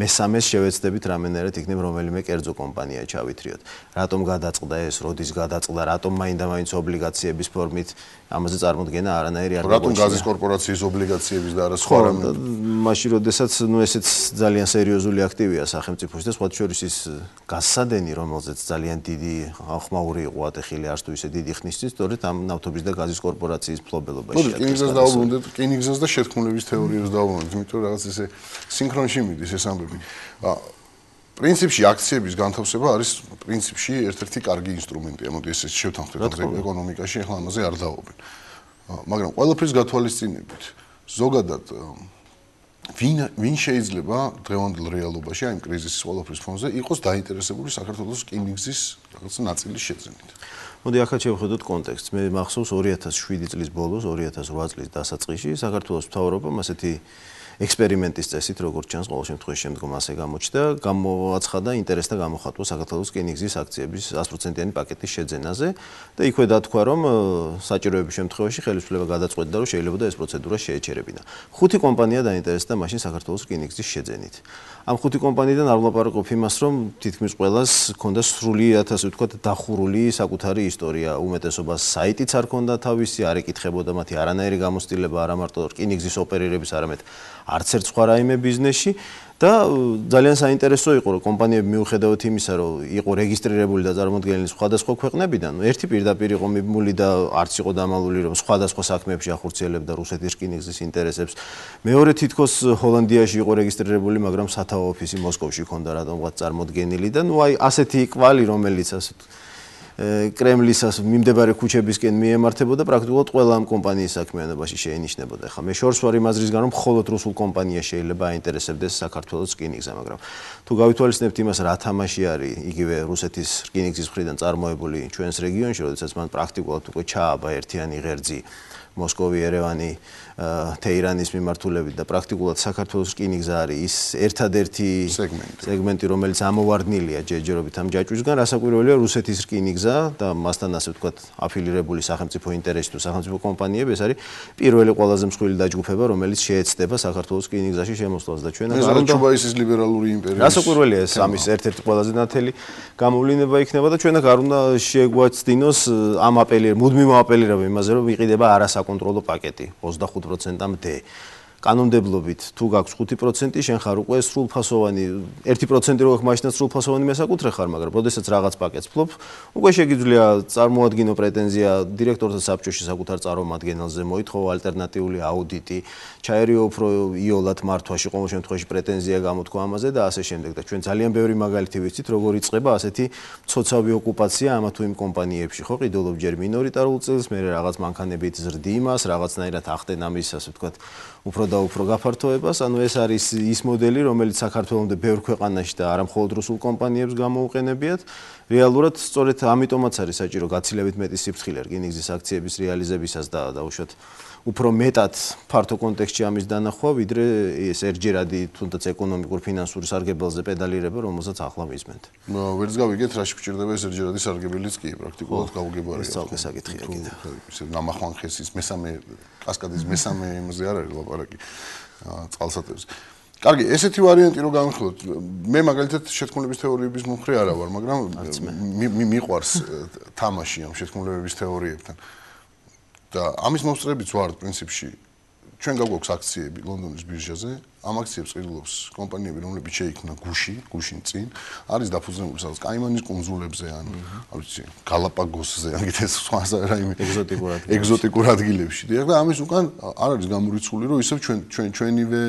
მესამეს შევეცდებით რამენერად იქნებ რომელიმე კერძო კომპანია ჩავითრიოთ. რატომ გადაწყდა ეს, როდის გადაწყდა, რატომ მაინდა-მაინც ობლიგაციების ფორმით ამაზე წარმოდგენა არანაირი არ რატომ გაზის კორპორაციის ობლიგაციების და არა სხვა რამე მაშინ როდესაც ნუ ესეც ძალიან სერიოზული აქტივია სახელმწიფოში და სხვა შორის ის გასადენი, რომელზეც ძალიან დიდი ახმაური იყო ატეხილი არც თუ ისე დიდი ხნის წინ, სწორედ ამ ნავთობის და გაზის კორპორაციის მფლობელობაში. ნუ რკინიგზას დაუბრუნდეთ, რკინიგზას და შეთქმულების თეორიას დაუბრუნდეთ, იმიტომ რომ რაღაც ესე სინქრონში მიდის ეს ამბები. პრინციპში აქციების განთავსება არის პრინციპში ერთ-ერთი კარგი ინსტრუმენტია, მოდი ესე შევთანხმდეთ ეკონომიკაში, ახლა ამაზე არ დავობენ. მაგრამ ყველაფრის გათვალისწინებით ზოგადად ვინ ვინ შეიძლება დღევანდელ რეალობაში აი კრიზისის ყველაფრის ფონზე იყოს დაინტერესებული საქართველოს რკინიგზის რაღაც ნაწილის შეძენით. მოდი ახლა შევხედოთ კონტექსტს. მე მახსოვს ორი ათას შვიდი წლის ბოლოს, ორი ათას ოთხ წლის დასაწყისში საქართველოს მთავრობამ ასეთი ექსპერიმენტის წესით, როგორც ჩანს, ყოველ შემთხვევაში შემდგომ ასე გამოჩნდა, გამოაცხადა ინტერესთა გამოხატვა საქართველოს რკინიგზის აქციების sto პროცენტიანი პაკეტის შეძენაზე და იქვე დათქვა, რომ საჭიროების შემთხვევაში ხელისუფლება გადაწყვეტდა, რომ შეიძლება ეს პროცედურა შეეჩერებინა. ხუთი კომპანია დაინტერესდა მაშინ საქართველოს რკინიგზის შეძენით. ამ ხუთი კომპანიიდან არ ვლაპარაკობ იმას, რომ თითქმის ყველას ჰქონდა სრულიად ასე ვთქვათ დახურული საკუთარი ისტორია, უმეტესობას საიტიც არ ჰქონდა თავისი, არ ეკითხებოდა მათი არანაირი გამოცდილება არა მარტო რკინიგზის ოპერირების, არამედ არც ერთ სხვა რაიმე ბიზნესში და ძალიან საინტერესო იყო, რომ კომპანიები მიუხედავად იმისა, რომ იყო რეგისტრირებული და წარმოდგენილი სხვადასხვა ქვეყნებიდან, ერთი პირდაპირ იყო მიბმული და არც იყო დამალული, რომ სხვადასხვა საქმეებში ახორციელებდა რუსეთის რკინიგზის ინტერესებს. მეორე თითქოს ჰოლანდიაში იყო რეგისტრირებული, მაგრამ სათავო ოფისი მოსკოვში ჰქონდა რატომღაც წარმოდგენილი და ნუ აი ასეთი კვალი, რომელიც ასე კრემლის მიმდებარე ქუჩებისკენ მიემართებოდა პრაქტიკულად ყველა ამ კომპანიის საქმიანობაში შეინიშნებოდა. ხა მე შორს ვარ იმ აზრისგან, რომ მხოლოდ რუსულ კომპანიას შეიძლება აინტერესებდეს საქართველოს რკინიგზა, მაგრამ თუ გავითვალისწინებთ იმას, რა თამაში არის იგივე რუსეთის რკინიგზის მხრიდან წარმოებული ჩვენს რეგიონში, როდესაც მან პრაქტიკულად უკვე ჩააბა ერთიანი ღერძი მოსკოვი, ერევანი, თეირანის მიმართულებით და პრაქტიკულად საქართველოს რკინიგზა არის ის ერთადერთი სეგმენტი, რომელიც ამოვარდნილია ჯერჯერობით ამ ჯაჭვისგან, რასაკვირველია რუსეთის რკინიგზა და მასთან ასე ვთქვათ აფილირებული სახელმწიფო ინტერესი თუ სახელმწიფო კომპანიები, ეს არის პირველი ყველაზე მსხვილი დაჯგუფება, რომელიც შეეცდება საქართველოს რკინიგზაში შემოსვლას და ჩვენ არ უნდა ჩუბაისის ლიბერალური იმპერიის რასაკვირველია ეს ამის ერთ-ერთი ყველაზე ნათელი გამოვლინება იქნება და ჩვენ არ უნდა შეგვაცდინოს ამ აპელირ მუდმივ აპელირება იმაზე, რომ ვიყიდება არასაკონტროლო პაკეტი ოცდახუთ პროცენტამდე. კანონმდებლობით თუ გაქვს ხუთი პროცენტი, შენ ხარ უკვე სრულფასოვანი, ერთი პროცენტი რო გაქვს, მაშინაც სრულფასოვანი მესაკუთრე ხარ, მაგრამ როდესაც რაღაც პაკეტს ფლობ, უკვე შეგიძლია წარმოადგინო პრეტენზია დირექტორთა საბჭოში საკუთარ წარმომადგენელზე, მოითხოვო ალტერნატიული აუდიტი, ჩაერიო უფრო იოლად მართვაში, ყოველ შემთხვევაში პრეტენზია გამოთქვა ამაზე და ასე შემდეგ. და ჩვენ ძალიან ბევრი მაგალითი ვიცით, როგორ იწყება ასეთი მცოცავი ოკუპაცია ამა თუ იმ კომპანიებში, ხო, ყიდულობ ჯერ მინორიტარულ წილს, მე რაღაც მანქანებით ზრდი იმას, რაღაცნაირად ახდენ ამის, ასე ვთქვათ, უფრო და უფრო გაფართოებას, ანუ ეს არის ის მოდელი, რომელიც საქართველოს ბევრ ქვეყანაში და არა მხოლოდ რუსულ კომპანიებს გამოუყენებიათ. რეალურად სწორედ ამიტომაც არის საჭირო გაცილებით მეტი სიფრთხილე რკინიგზის აქციების რეალიზებისას და დაუშვათ უფრო მეტად ფართო კონტექსტში ამის დანახვა, ვიდრე ეს ერთჯერადი თუნდაც ეკონომიკურ ფინანსურ სარგებელზე პედალირება, რომელსაც ახლა მისმენთ. ვერც გავიგეთ, რაში გვჭირდება ეს ერთჯერადი სარგებელიც კი პრაქტიკულად გაუგებარია. ეს ცალკე საკითხია კიდევ. ისე ნამახვან ხესის მესამე კასკადის მესამე იმაზე არ არის ლაპარაკი წყალსატევზე. კარგი, ესეთი ვარიანტი რო განვიხილოთ, მე მაგალითად შეთქმულების თეორიების მომხრე არა ვარ, მაგრამ მიყვარს თამაში ამ შეთქმულებების თეორიებთან. და ამის მოსწრებიც ვარ პრინციპში ჩვენ გაგვაქვს აქციები ლონდონის ბირჟაზე. Ამ აქციებს ყიდულობს კომპანიები, რომლებიც შეიქმნა გუში, გუშინ წინ, არის დაფუძნებული სადაც კაიმანის კუნძულებზე ან ვიცი, გალაპაგოსზე, ან კიდე სხვა რაიმე ეგზოტიკურ ადგილებში. ეგზოტიკურ ადგილებში. დიახ და ამის უკან არ არის გამორიცხული, რომ ისევ ჩვენ ჩვენ ჩვენივე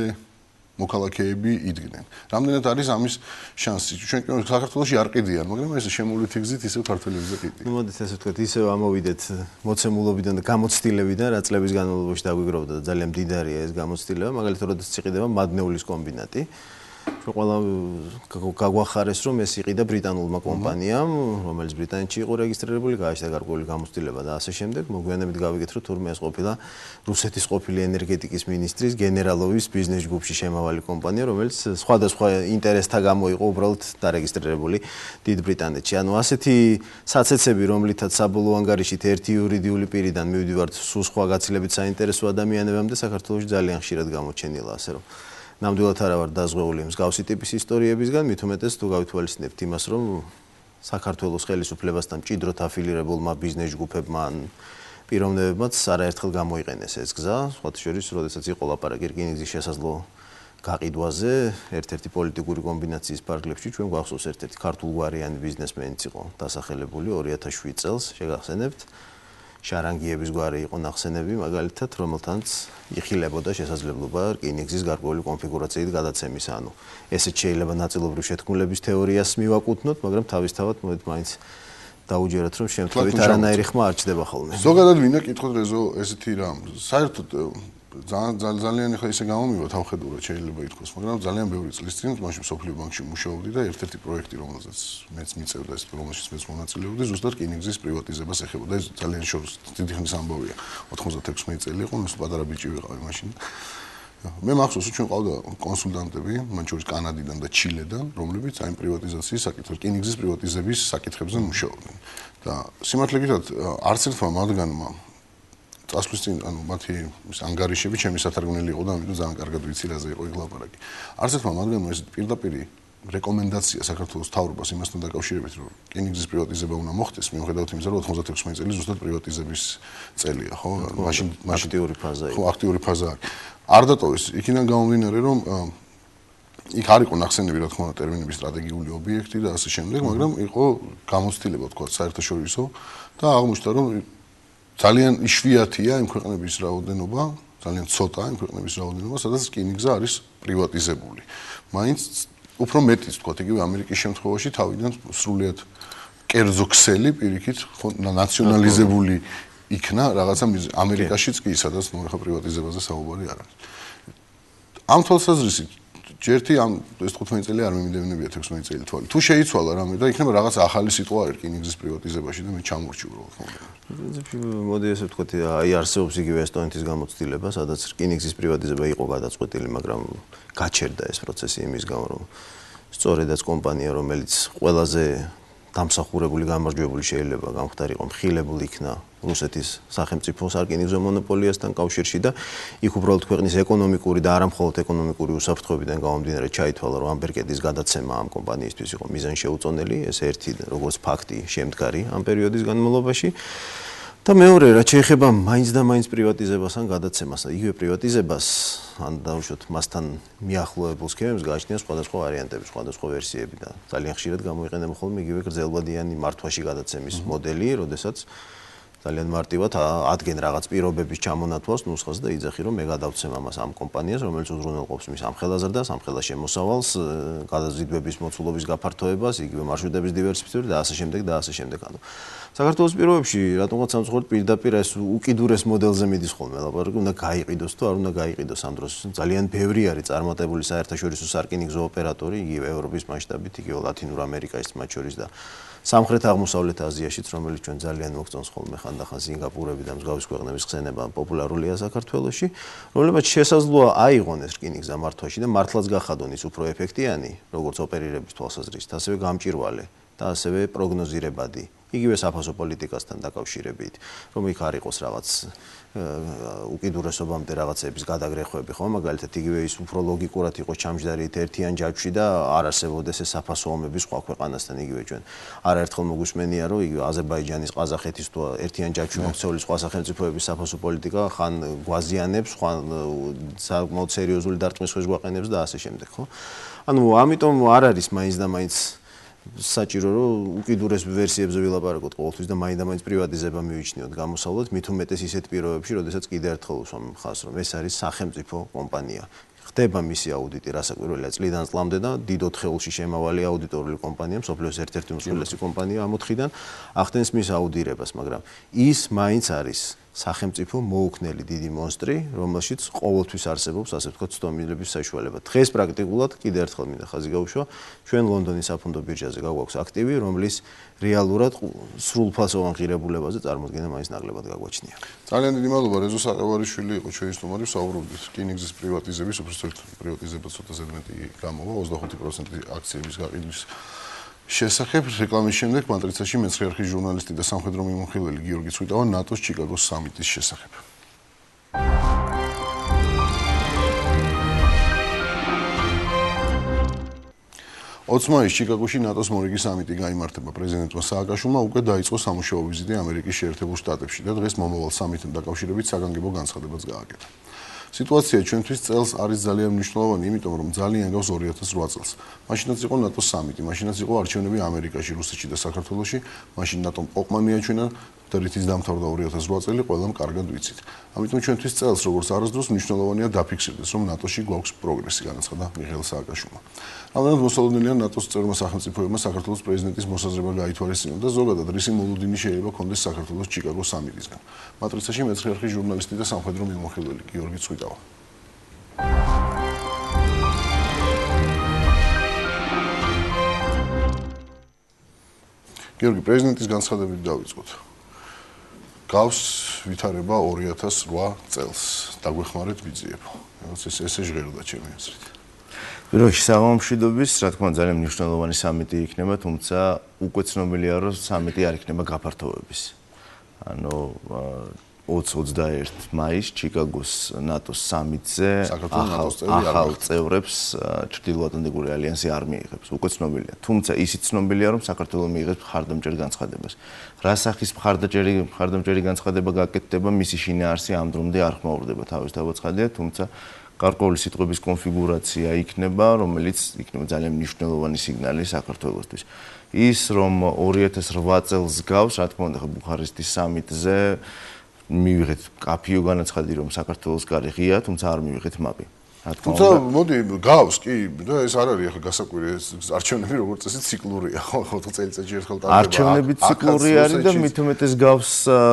მოქალაქეები იდგნენ. რამდენად არის ამის შანსი? ჩვენ საქართველოში არ ყიდიან, მაგრამ ეს შემოვლითი გზით ისევ ქართველებზე ყიდიან. ნუ მოდით ესე ვთქვათ, ისევ ამოვიდეთ მოცემულობიდან და გამოცდილებიდან, რა წლების განმავლობაში დაგვიგროვდა და ძალიან მდიდარია ეს გამოცდილება, მაგალითად, როდესაც იყიდება მადნეულის კომბინატი. ჩვენ ყველა გაგვახარეს, რომ ეს იყიდა ბრიტანულმა კომპანიამ, რომელიც ბრიტანეთში იყო რეგისტრირებული, გააჩნდა გარკვეული გამოცდილება და ასე შემდეგ. მოგვიანებით გავიგეთ, რომ თურმე ეს ყოფილა რუსეთის ყოფილი ენერგეტიკის მინისტრის გენერალოვის ბიზნეს ჯგუფში შემავალი კომპანია, რომელიც სხვადასხვა ინტერესთა გამო იყო უბრალოდ დარეგისტრირებული დიდ ბრიტანეთში. ანუ ასეთი საცეცები, რომლითაც საბოლოო ანგარიშით ერთი იურიდიული პირიდან მივიდივართ სულ სხვა გაცილებით საინტერესო ადამიანებამდე, საქართველოში ძალიან ხშირად გამოჩენილა, ასე რომ ნამდვილად არა ვარ დაზღვეული მსგავსი ტიპის ისტორიებისგან, მით უმეტეს თუ გავითვალისწინებთ იმას, რომ საქართველოს ხელისუფლებასთან მჭიდროდ აფილირებულმა ბიზნეს ჯგუფებმა ან პიროვნებებმაც არაერთხელ გამოიყენეს ეს გზა, სხვათა შორის, როდესაც იყო ლაპარაკი რკინიგზის შესაძლო გაყიდვაზე, ერთ-ერთი პოლიტიკური კომბინაციის ფარგლებში, ჩვენ გვახსოვს ერთ-ერთი ქართულგვარიანი ბიზნესმენიც იყო დასახელებული ორი ათას შვიდ წელს, შეგახსენებთ. შარანგიების გვარი იყო ნახსენები, მაგალითად, რომელთანაც იხილებოდა შესაძლებლობა რკინიგზის გარკვეული კონფიგურაციით გადაცემის, ანუ ესეც შეიძლება ნაწილობრივ შეთქმულების თეორიას მივაკუთვნოთ, მაგრამ თავისთავად მოდით მაინც დაუჯეროთ, რომ შემთხვევით არანაირი ხმა არ ჩდება ხოლმე. ზოგადად მინდა კითხოთ რეზო ესეთი რამ. საერთოდ ძალიან ძალიან ახლა ისე გამომივა თავხედურად შეიძლება ითქვას, მაგრამ ძალიან ბევრი წლის წინ მაშინ სოფლიო ბანკში მუშაობდი და ერთ-ერთი პროექტი, რომელზეც მეც მიწევდა ეს რომელშიც მეც მონაწილეობდი, ზუსტად რკინიგზის პრივატიზებას ეხებოდა. ეს ძალიან შორს დიდი ხნის ამბავია. ოთხმოცდათექვსმეტი წელი იყო, ნუ პატარა ბიჭი ვიყავი მაშინ. მე მახსოვს, ჩვენ ყავდა კონსულტანტები, მათ შორის კანადიდან და ჩილედან, რომლებიც აი პრივატიზაციის საკითხებს, რკინიგზის პრივატიზების საკითხებზე მუშაობდნენ. და სიმართლე გითხრათ, არც ერთმა მათგანმა წასვლის წინ, ანუ მათი ანგარიშები ჩემი სათარგმნელი იყო და ამიტომ ძალიან კარგად ვიცი რაზე იყო იქ ლაპარაკი. არც ერთმა მათგანმა ეს პირდაპირ რეკომენდაცია საქართველოს მთავრობას იმასთან დაკავშირებით, რომ რკინიგზის პრივატიზება უნდა მოხდეს, მიუხედავად იმისა, რომ ოთხმოცდათექვსმეტი წელი ზუსტად პრივატიზების წელია, ხო? მაშინ აქტიური ფაზა იყო. ხო, აქტიური ფაზა არის. არ დატოვეს, იქიდან გამომდინარე, რომ იქ არ იყო ნახსენები, რა თქმა უნდა, ტერმინების სტრატეგიული ობიექტი და ასე შემდეგ, მაგრამ იყო გამოცდილება, თქვა, საერთაშორისო და აღმოჩნდა, რომ ძალიან იშვიათია იმ ქვეყნების რაოდენობა, ძალიან ცოტა იმ ქვეყნების რაოდენობა, სადაც რკინიგზა არის პრივატიზებული. მაინც უფრო მეტიც, თქვა, იგივე ამერიკის შემთხვევაში თავიდან სრულიად კერძო ქსელი პირიქით ნაციონალიზებული იქნა რაღაცა ამერიკაშიც კი, სადაც ნუ ახლა პრივატიზებაზე საუბარი არ არის. ამ თვალსაზრისით ჯერთი ამ ეს თხუთმეტი წელი არ მიმდევნებია თექვსმეტი წელი თვალი. თუ შეიცვალა რამე და იქნება რაღაც ახალი სიტყვა რკინიგზის პრივატიზებაში და მე ჩამორჩი უბრალოდ ხოლმე. მოდი ესე ვთქვათ, აი არსებობს იგივე ესტონეთის გამოცდილება, სადაც რკინიგზის პრივატიზება იყო გადაწყვეტილი, მაგრამ გაჩერდა ეს პროცესი იმის გამო, რომ სწორედაც კომპანია, რომელიც ყველაზე დამსახურებული გამარჯვებული შეიძლება გამختارიყო მხილებული იქნა რუსეთის სახელმწიფო სარკინიგზო მონოპოლიასთან კავშირში და იქ უბრალოდ ქვეყნის ეკონომიკური და არა მხოლოდ ეკონომიკური უსაფრთხოებიდან გამომდინარე ჩაითვალა, რომ ამ ბერკეტის გადაცემა ამ კომპანიისთვის იყო მიზანშეუწონელი, ეს ერთი როგორც ფაქტი შემდგარი ამ პერიოდის განმავლობაში. და მეორე, რაც შეეხება მაინც და მაინც პრივატიზებას ან გადაცემას, იგივე პრივატიზებას, ან დაუშვათ მასთან მიახლოებულ სქემებს გააჩნია სხვადასხვა ვარიანტები, სხვადასხვა ვერსიები და ძალიან ხშირად გამოიყენება ხოლმე იგივე გრძელვადიანი მართვაში გადაცემის მოდელი, როდესაც ძალიან მარტივად ადგენს რაღაც პირობების ჩამონათვალს ნუსხას და იძახი, რომ მე გადავცემ ამას ამ კომპანიას, რომელიც უზრუნველყოფს მის ამ ხელაზრდას, ამ ხელას შემოსავალს, გადაზიდვების მოცულობის გაფართოებას, იგივე მარშრუტების დივერსიფიცირებას და ასე შემდეგ და ასე შემდეგ. ანუ საქართველოს პირობებში რატომღაც სამწუხაროდ პირდაპირ ეს უკიდურეს მოდელზე მიდის ხოლმე ლაპარაკი, უნდა გაიყიდოს თუ არ უნდა გაიყიდოს ამ დროს. ძალიან ბევრი არის წარმატებული საერთაშორისო სარკინიგზო ოპერატორი, იგივე ევროპის მასშტაბით, იგივე ლათინურ ამერიკაში მათ შორის და სამხრეთ აღმოსავლეთ აზიაშიც, რომელიც ჩვენ ძალიან მოგწონს ხოლმე ხანდახან სინგაპურები და მსგავსი ქვეყნების ხსენება პოპულარულია საქართველოში, რომლებიც შესაძლოა აიღონეს რკინიგზა მართვაში და მართლაც გახადონ ის უფრო ეფექტიანი, როგორც ოპერირების თვალსაზრისით, ასევე გამჭირვალე და ასევე პროგნოზირებადი იგივე საფასო პოლიტიკასთან დაკავშირებით, რომ იქ არ იყოს რაღაც უკიდურესობამდე რაღაცების გადაგრეხვები, ხო, მაგალითად იგივე ის უფრო ლოგიკურად იყოს ჩამჯდარი ერთიან ჯაჭვში და არ არსებობდეს ეს საფასო ომები სხვა ქვეყანასთან, იგივე ჩვენ არაერთხელ მოგვისმენია, რომ იგივე აზერბაიჯანის, ყაზახეთის თუ ერთიან ჯაჭვში მოქცეული სხვა სახელმწიფოების საფასო პოლიტიკა ხან გვაზიანებს, ხან საკმაოდ სერიოზული დარტყმის ხეს გვაყენებს და ასე შემდეგ, ხო? ანუ ამიტომ არ არის მაინც და მაინც საჭირო რომ უკიდურეს ვერსიებზე ვილაპარაკოთ ყოველთვის და მაინც და მაინც პრივატიზება მივიჩნიოთ გამოსავლოთ, მით უმეტეს ისეთ პირობებში, როდესაც კიდევ ერთხელ უსვამ ხაზს, რომ ეს არის სახელმწიფო კომპანია. ხდება მისი აუდიტი, რასაკვირველია, წლიდან წლამდე და დიდ ოთხეულში შემავალი აუდიტორული კომპანია, მსოფლიოს ერთ-ერთი უმსხვილესი კომპანია ამ ოთხიდან ახდენს მის აუდირებას, მაგრამ ის მაინც არის სახელმწიფო მოუქნელი დიდი მონსტრი, რომელშიც ყოველთვის არსებობს, ასე ვთქვათ, ცდომილების საშუალება. დღეს პრაქტიკულად კიდევ ერთხელ მინდა ხაზი გაუშვა, ჩვენ ლონდონის საფონდო ბირჟაზე გაგვაქვს აქტივი, რომლის რეალურად სრულფასოვან ღირებულებაზე წარმოდგენა მაინც ნაკლებად გაგვაჩნია. ძალიან დიდი მადლობა რეზო საყევარიშვილი იყო ჩვენი სტუმარი, ვსაუბრობდით რკინიგზის პრივატიზების, უბრალოდ პრივატიზება ცოტა ზედმეტი გამოვა, ოცდახუთი პროცენტი აქციების გაყიდვის შესახებ. რეკლამის შემდეგ მატრიცაში მეცხრე არხის ჟურნალისტი და სამხედრო მიმოხილველი გიორგი ცვიტავა ნატოს ჩიკაგოს სამიტის შესახებ. ოცი მაისს ჩიკაგოში ნატოს მორიგი სამიტი გაიმართება. პრეზიდენტმა სააკაშვილმა უკვე დაიწყო სამუშაო ვიზიტი ამერიკის შეერთებულ შტატებში და დღეს მომავალ სამიტთან დაკავშირებით საგანგებო განცხადებაც გააკეთა. სიტუაცია ჩვენთვის წელს არის ძალიან მნიშვნელოვანი, იმიტომ რომ ძალიან გავს ორი ათას რვა წელს. მაშინაც იყო ნატოს სამიტი, მაშინაც იყო არჩევნები ამერიკაში, რუსეთში და საქართველოში, მაშინ ნატომ ყოფმა მიაჩვენა და რითიც დამთავრდა ორი ათას რვა წელი, ყველამ კარგად ვიცით. ამიტომ ჩვენთვის წელს როგორც არასდროს მნიშვნელოვანია დაფიქსირდეს, რომ ნატოში გვაქვს პროგრესი, განაცხადა მიხეილ სააკაშვილმა. რამდენად მოსალოდნელია ნატოს წევრმა სახელმწიფოებმა საქართველოს პრეზიდენტის მოსაზრება გაითვალისწინონ და ზოგადად რისი მოლოდინი შეიძლება ქონდეს საქართველოს ჩიკაგოს სამიტისგან. მატრიცაში მეცხრე არხის ჟურნალისტი და სამხედრო მიმოხილველი გიორგი ცვიტავა. გიორგი, პრეზიდენტის განცხადებით დავიწყოთ. გავს ვითარება ორი ათას რვა წელს. დაგვეხმარეთ ვიძიებო. ეს ესე ჟღეროდა ჩემი აზრით. როში საღამომშვიდობის, რა თქმა უნდა, ძალიან მნიშვნელოვანი სამიტი იქნება, თუმცა უკვე ცნობილია, რომ სამიტი არ იქნება გაფართოების. ანუ ოცი ოცდაერთი მაისს ჩიკაგოს ნატოს სამიტზე ახალ წევრებს ჩრდილოატლანტიკური ალიანსი არ მიიღებს. უკვე ცნობილია. თუმცა ისიც ცნობილია, რომ საქართველოს მიიღებს მხარდამჭერ განცხადებას. რა სახის მხარდამჭერი მხარდამჭერი განცხადება გაკეთდება, მისი შინაარსი ამ დრომდე არ ხმაურდება თავისთავად ცხადია, თუმცა გარკვეული სიტყვების კონფიგურაცია იქნება, რომელიც იქნება ძალიან მნიშვნელოვანი სიგნალი საქართველოსთვის. ის რომ ორი ათას რვა წელს გავს, რა თქმა უნდა, ბუხარესტის სამიტზე მივიღეთ კაფიო განაცხადი, რომ საქართველოს გარე ღია, თუმცა არ მივიღეთ მაპი. თუმცა მოდი გავს კი და ეს არ არის ახლა გასაკვირი, არჩევნები როგორც წესი ციკლურია, ხო, ოთხ წელიწადში ერთხელ ტარდება. არჩევნები ციკლური არის და მით უმეტეს გავს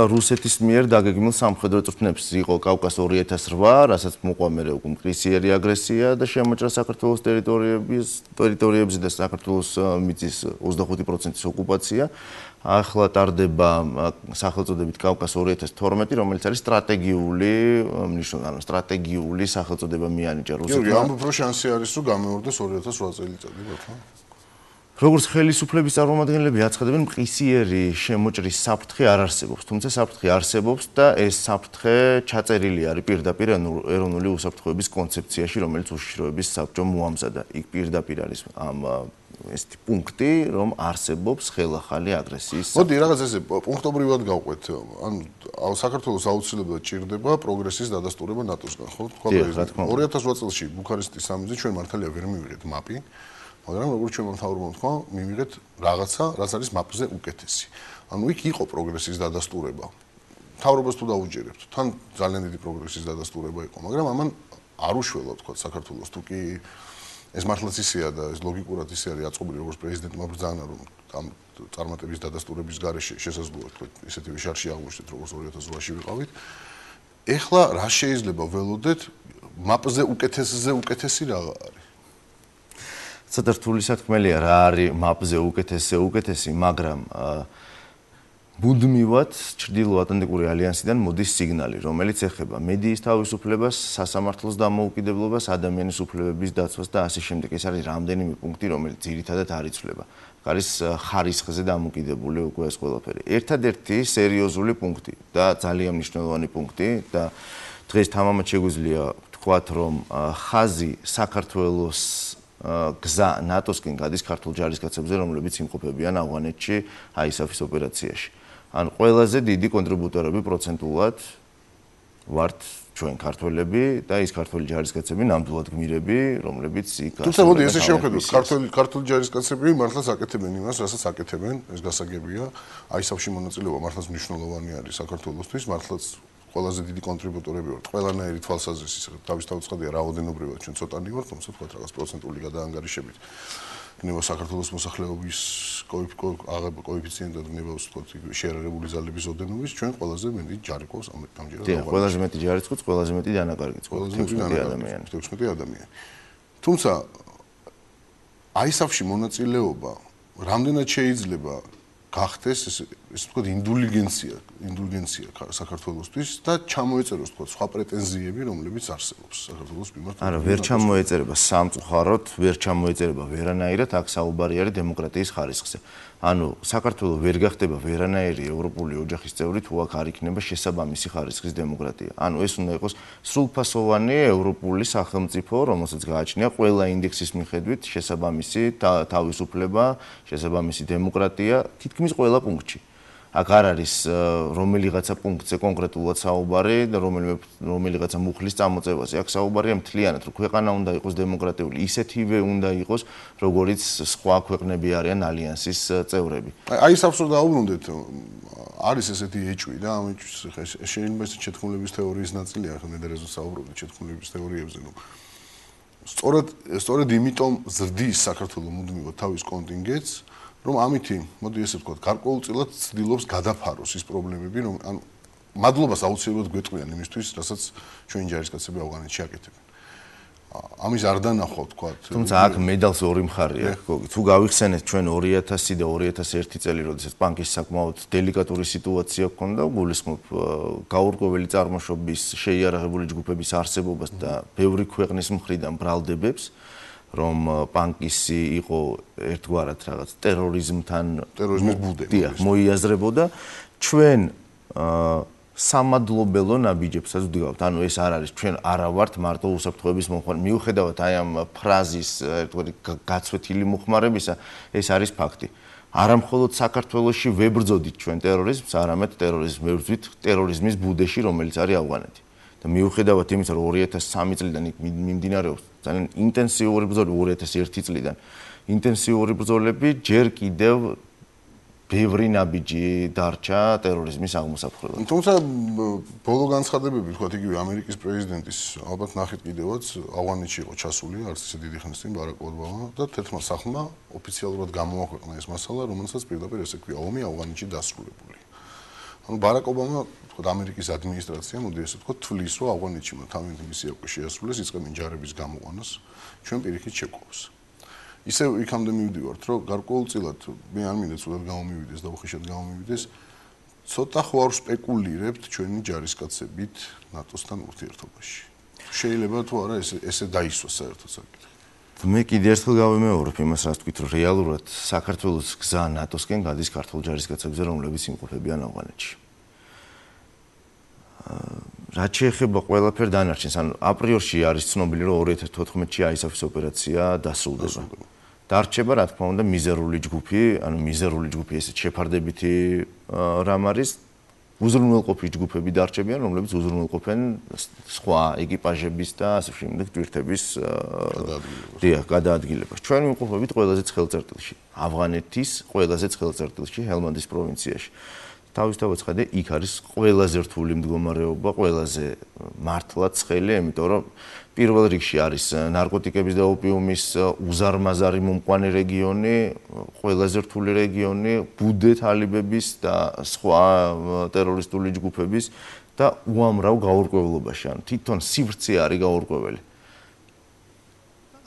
რუსეთის მიერ დაგეგმილ სამხედრო წვრთნებს. იყო კავკას ორი ათას რვა, რასაც მოყვა მერე უკვე მკრისიერი აგრესია და შემოჭრა საქართველოს ტერიტორიების ტერიტორიებზე და საქართველოს მიწის ოცდახუთი პროცენტის ოკუპაცია. ახლა ტარდება სახელწოდებით კავკას ორი ათას თორმეტი, რომელიც არის სტრატეგიული მნიშვნელობა, სტრატეგიული სახელწოდება მიანიჭა რუსეთმა. გიორგი, ამ უფრო შანსი არის, რომ გამეორდეს ორი ათას რვა წელიწადი, ბატონო. როგორც ხელისუფლების წარმომადგენლები აცხადებენ, მყისიერი შემოჭრის საფრთხე არ არსებობს, თუმცა საფრთხე არსებობს და ეს საფრთხე ჩაწერილი არის პირდაპირ ეროვნული უსაფრთხოების კონცეფციაში, რომელიც უშიშროების საბჭომ მოამზადა. იქ პირდაპირ არის ამ ესეთი პუნქტი, რომ არსებობს ხელახალი აგრესიის. მოდი რაღაც ესე პუნქტობრივად გავყვეთ. ანუ საქართველოს აუცილებლად ჭირდება პროგრესის დადასტურება ნატოსგან, ხო? ორი ათას რვა წელში ბუქარესტის სამიტზე ჩვენ მართალია ვერ მივიღეთ მაპი, მაგრამ როგორც ჩვენ მთავრობამ თქვა, მივიღეთ რაღაცა, რაც არის მაპზე უკეთესი. ანუ იქ იყო პროგრესის დადასტურება. მთავრობას თუ დაუჯერებთ, თან ძალიან დიდი პროგრესის დადასტურება იყო, მაგრამ ამან არ უშველა თქვა საქართველოს თუ კი ეს მართლაც ისეა და ეს ლოგიკურად ისე არის აწყობილი, როგორც პრეზიდენტმა ბრძანა, რომ ამ წარმატების დადასტურების გარეშე შესაძლოა თქვა ისეთი ვიშარში აღმოჩნდეთ, როგორც ორი ათას რვაში ვიყავით. ეხლა რა შეიძლება ველოდეთ მაპზე უკეთესზე უკეთესი რა არის? ცოტა რთული სათქმელია რა არის მაპზე უკეთესზე უკეთესი, მაგრამ მუდმივად ჩრდილო-ატლანტიკური ალიანსიდან მოდის სიგნალი, რომელიც ეხება მედიის თავისუფლებას, სასამართლოს დამოუკიდებლობას, ადამიანის უფლებების დაცვას და ასე შემდეგ. ეს არის რამდენიმე პუნქტი, რომელიც ძირითადად არ იცვლება. არის ხარისხზე დამოკიდებული უკვე ეს ყველაფერი. ერთადერთი სერიოზული პუნქტი და ძალიან მნიშვნელოვანი პუნქტი და დღეს თამამად შეგვიძლია ვთქვათ, რომ ხაზი საქართველოს გზა ნატოსკენ გადის ქართულ ჯარისკაცებზე, რომლებიც იმყოფებიან ავღანეთში აისაფის ოპერაციაში. ან ყველაზე დიდი კონტრიბუტორები პროცენტულად ვართ ჩვენ ქართველები და ის ქართველი ჯარისკაცები ნამდვილად გმირები, რომლებიც იქ თუმცა მოდი ესე შევხედოთ, ქართველი ქართული ჯარისკაცები მართლაც აკეთებენ იმას, რასაც აკეთებენ, ეს გასაგებია. აისაფში მონაწილეობა მართლაც მნიშვნელოვანი არის საქართველოსთვის, მართლაც ყველაზე დიდი კონტრიბუტორები ვართ. ყველანაირი თვალსაზრისით, თავისთავადია რაოდენობრივად ჩვენ ცოტანი ვართ, თუმცა თქვა რაღაც პროცენტული გადაანგარიშებით. ნება საქართველოს მოსახლეობის კოეფიციენტად ნება ვთქვათ შეერარებული ძალების ოდენობის ჩვენ ყველაზე მეტი ჯარი ყავს ამჯერად. დიახ, ყველაზე მეტი ჯარიც ყავს, ყველაზე მეტი დანაკარგიც ყავს. ყველაზე მეტი ადამიანი. ოცდაოთხი ადამიანი. თუმცა აისაფში მონაწილეობა რამდენად შეიძლება გახდეს ეს ეს ვთქვათ ინდულიგენცია, ინდულგენცია საქართველოსთვის და ჩამოეწეროს ვთქვათ სხვა პრეტენზიები, რომლებიც არსებობს საქართველოს მიმართ. არა, ვერ ჩამოეწერება სამწუხაროდ, ვერ ჩამოეწერება ვერანაირად, აქ საუბარი არის დემოკრატიის ხარისხზე. ანუ საქართველო ვერ გახდება ვერანაირი ევროპული ოჯახის წევრი, თუ აქ არ იქნება შესაბამისი ხარისხის დემოკრატია. ანუ ეს უნდა იყოს სრულფასოვანი ევროპული სახელმწიფო, რომელსაც გააჩნია ყველა ინდექსის მიხედვით შესაბამისი თავისუფლება, შესაბამისი დემოკრატია, თითქმის ყველა პუნქტში. აქ არ არის რომელიღაცა პუნქტზე კონკრეტულად საუბარი და რომელიმე რომელიღაცა მუხლის წამოწევაზე. აქ საუბარია მთლიანად, რომ ქვეყანა უნდა იყოს დემოკრატიული, ისეთივე უნდა იყოს, როგორც სხვა ქვეყნები არიან ალიანსის წევრები. აი ეს აბსურდ დაუბრუნდეთ. არის ესეთი ეჭვი და ამ ეჭვის შეიძლება ეს შეთქმულების თეორიის ნაწილია, ახლა ნედერეზე საუბრობთ შეთქმულების თეორიებზე, რომ სწორედ სწორედ იმიტომ ზრდის საქართველოს მუდმივად თავის კონტინგენტს, რომ ამითი, მოდი ესე ვთქვათ, გარკვეულწილად ცდილობს გადაფაროს ის პრობლემები, რომ ანუ მადლობას აუცილებლად გვეტყვიან იმისთვის, რასაც ჩვენი ჯარისკაცები ავღანეთში აკეთებენ. ამის არ დანახვა ვთქვათ. თუმცა აქ მედალს ორი მხარე აქვს, გოგი. თუ გავიხსენეთ ჩვენ ორი ათასი და ორი ათას ერთი წელი, როდესაც ბანკის საკმაოდ დელიკატური სიტუაცია ჰქონდა, გულისხმობ გაურკვეველი წარმოშობის შეიარაღებული ჯგუფების არსებობას და ბევრი ქვეყნის მხრიდან ბრალდებებს. რომ პანკისი იყო ერთგვარად რაღაც ტერორიზმთან ტერორიზმის ბუდე. დიახ, მოიაზრებოდა ჩვენ სამადლობელო ნაბიჯებსაც ვდგავთ. ანუ ეს არ არის ჩვენ არა ვართ მარტო უსაფრთხოების მომხმარე. მიუხედავად აი ამ ფრაზის ერთგვარი გაცვეთილი მოხმარებისა, ეს არის ფაქტი. არა მხოლოდ საქართველოში ვებრძოდით ჩვენ ტერორიზმს, არამედ ტერორიზმს ვებრძვით ტერორიზმის ბუდეში, რომელიც არის ავღანეთი. და მიუხედავად იმისა, რომ ორი ათას სამი წლიდან მიმდინარეობს ძალიან ინტენსიური ბრძოლები, ორი ათას ერთი წლიდან ინტენსიური ბრძოლები, ჯერ კიდევ ბევრი ნაბიჯი დარჩა ტერორიზმის აღმოსაფხვრელად. თუმცა ბოლო განცხადებები, თქვათ იგივე ამერიკის პრეზიდენტის, ალბათ ნახეთ კიდევაც, ავღანეთში იყო ჩასული, არც ისე დიდი ხნის წინ ბარაკ ობამა და თერთმეტ სახლმა ოფიციალურად გამოაქვეყნა ეს მასალა, რომელსაც პირდაპირ ესე ქვია, ომი ავღანეთში დასრულებული. ანუ ბარაკ ობამა ამერიკის ადმინისტრაცია, მოდი ესე ვთქვათ, თვლის, რომ ავღანეთში თავიანთი მისია უკვე შეასრულეს, იწყებენ ჯარების გამოყვანას, ჩვენ პირიქით შეგყვავს. ისე იქამდე მივდივართ, რომ გარკვეულწილად მე არ მინდა ცუდად გამომივიდეს და უხეშად გამომივიდეს, ცოტა ხوار სპეკულირებთ ჩვენი ჯარისკაცებით ნატოსთან ურთიერთობაში. შეიძლება თუ არა ესე ესე დაისვას საერთოდ საკითხი. მე კიდე ერთხელ გავიმეორებ იმას, რაც თქვით, რომ რეალურად საქართველოს გზა ნატოსკენ გადის ქართულ ჯარისკაცებზე, რომლებიც იმყოფებიან ავღანეთში. რაც შეეხება ყველაფერ დანარჩენს, ანუ აპრიორში არის ცნობილი, რომ ორი ათას თოთხმეტში აისაფის ოპერაცია დასრულდება. დარჩება, რა თქმა უნდა, მიზერული ჯგუფი, ანუ მიზერული ჯგუფი ესეთ შეფარდებითი რამ არის, უზრუნველყოფის ჯგუფები დარჩებიან, რომლებიც უზრუნველყოფენ სხვა ეკიპაჟების და ასე შემდეგ ჯგუფების დიახ, გადაადგილებას. ჩვენ ვიმყოფებით ყველაზე ცხელ წერტილში, ავღანეთის ყველაზე ცხელ წერტილში, ჰელმანდის პროვინციაში. თავისთავად ცხადე, იქ არის ყველაზე რთული მდგომარეობა, ყველაზე მართლაც ცხელი, იმიტომ რომ პირველ რიგში არის ნარკოტიკების და ოპიუმის უზარმაზარი მომყვანი რეგიონი, ყველაზე რთული რეგიონი, ბუდე თალიბების და სხვა ტერორისტული ჯგუფების და უამრავ გაურკვევლობაში, ანუ თვითონ სივრცე არის გაურკვეველი.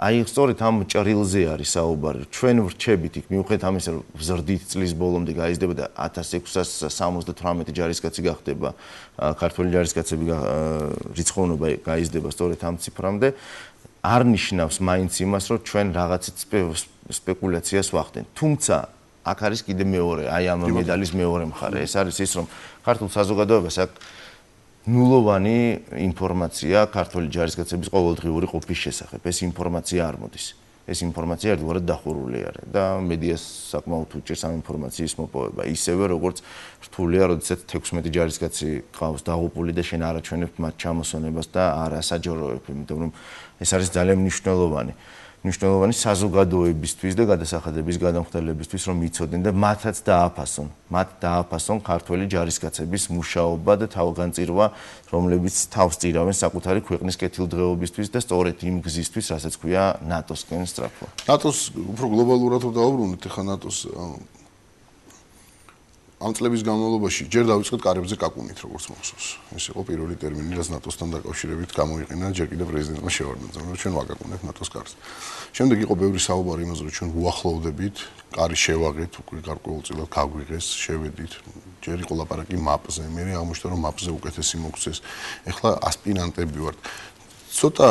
აი სწორედ ამ ჭრილზე არის საუბარი. ჩვენ ვრჩებით იქ მიუხედავად ამისა, რომ ზრდით წლის ბოლომდე გაიზრდება და ათას ექვსას სამოცდათვრამეტი ჯარისკაცი გახდება, ქართველი ჯარისკაცები რიცხოვნობა გაიზრდება სწორედ ამ ციფრამდე, არ ნიშნავს მაინც იმას, რომ ჩვენ რაღაცით სპეკულაციას ვახდენთ. თუმცა აქ არის კიდე მეორე, აი ამ მედალის მეორე მხარე. ეს არის ის, რომ ქართულ საზოგადოებას აქ ნულოვანი ინფორმაცია ქართული ჯარისკაცების ყოველდღიური ყოფის შესახებ. ეს ინფორმაცია არ მოდის. ეს ინფორმაცია ერთგვარად დახურული არის და მედიას საკმაოდ უჭირს ამ ინფორმაციის მოპოვება. ისევე როგორც რთულია, როდესაც თექვსმეტი ჯარისკაცი ყავს დაღუპული და შენ არ აჩვენებ მათ ჩამოსონებას და არ ასაჯაროებ, იმიტომ რომ ეს არის ძალიან მნიშვნელოვანი. მნიშვნელოვანი საზოგადოებისთვის და გადასახადების გადამხდელებისთვის, რომ იცოდნენ და მათაც დააფასონ, მათ დააფასონ ქართველი ჯარისკაცების მუშაობა და თავგანწირვა, რომლებიც თავს წირავენ საკუთარი ქვეყნის კეთილდღეობისთვის და სწორედ იმ გზისთვის, რასაც ქვია ნატოსკენ სწრაფვა. ნატოს უფრო გლობალურად დავუბრუნდით, ახლა ნატოს ამ წლების განმავლობაში ჯერ დავიწყეთ კარებზე კაკუნით, როგორც მოხსოვს. ეს იყო პირველი ტერმინი, რაც ნატოსთან დაკავშირებით გამოიყენა ჯერ კიდევ პრეზიდენტმა შევარდნაძემ, რომ ჩვენ ვაკაკუნებთ ნატოს კარს. შემდეგ იყო ბევრი საუბარი იმაზე, რომ ჩვენ უახლოვდებით, კარი შევაღეთ, უკვე გარკვეულწილად გაგვიღეს, შევედით. ჯერ იყო ლაპარაკი მაპზე, მე აღმოჩნდა, რომ მაპზე უკეთესი მოგვცეს. ეხლა ასპირანტები ვართ. ცოტა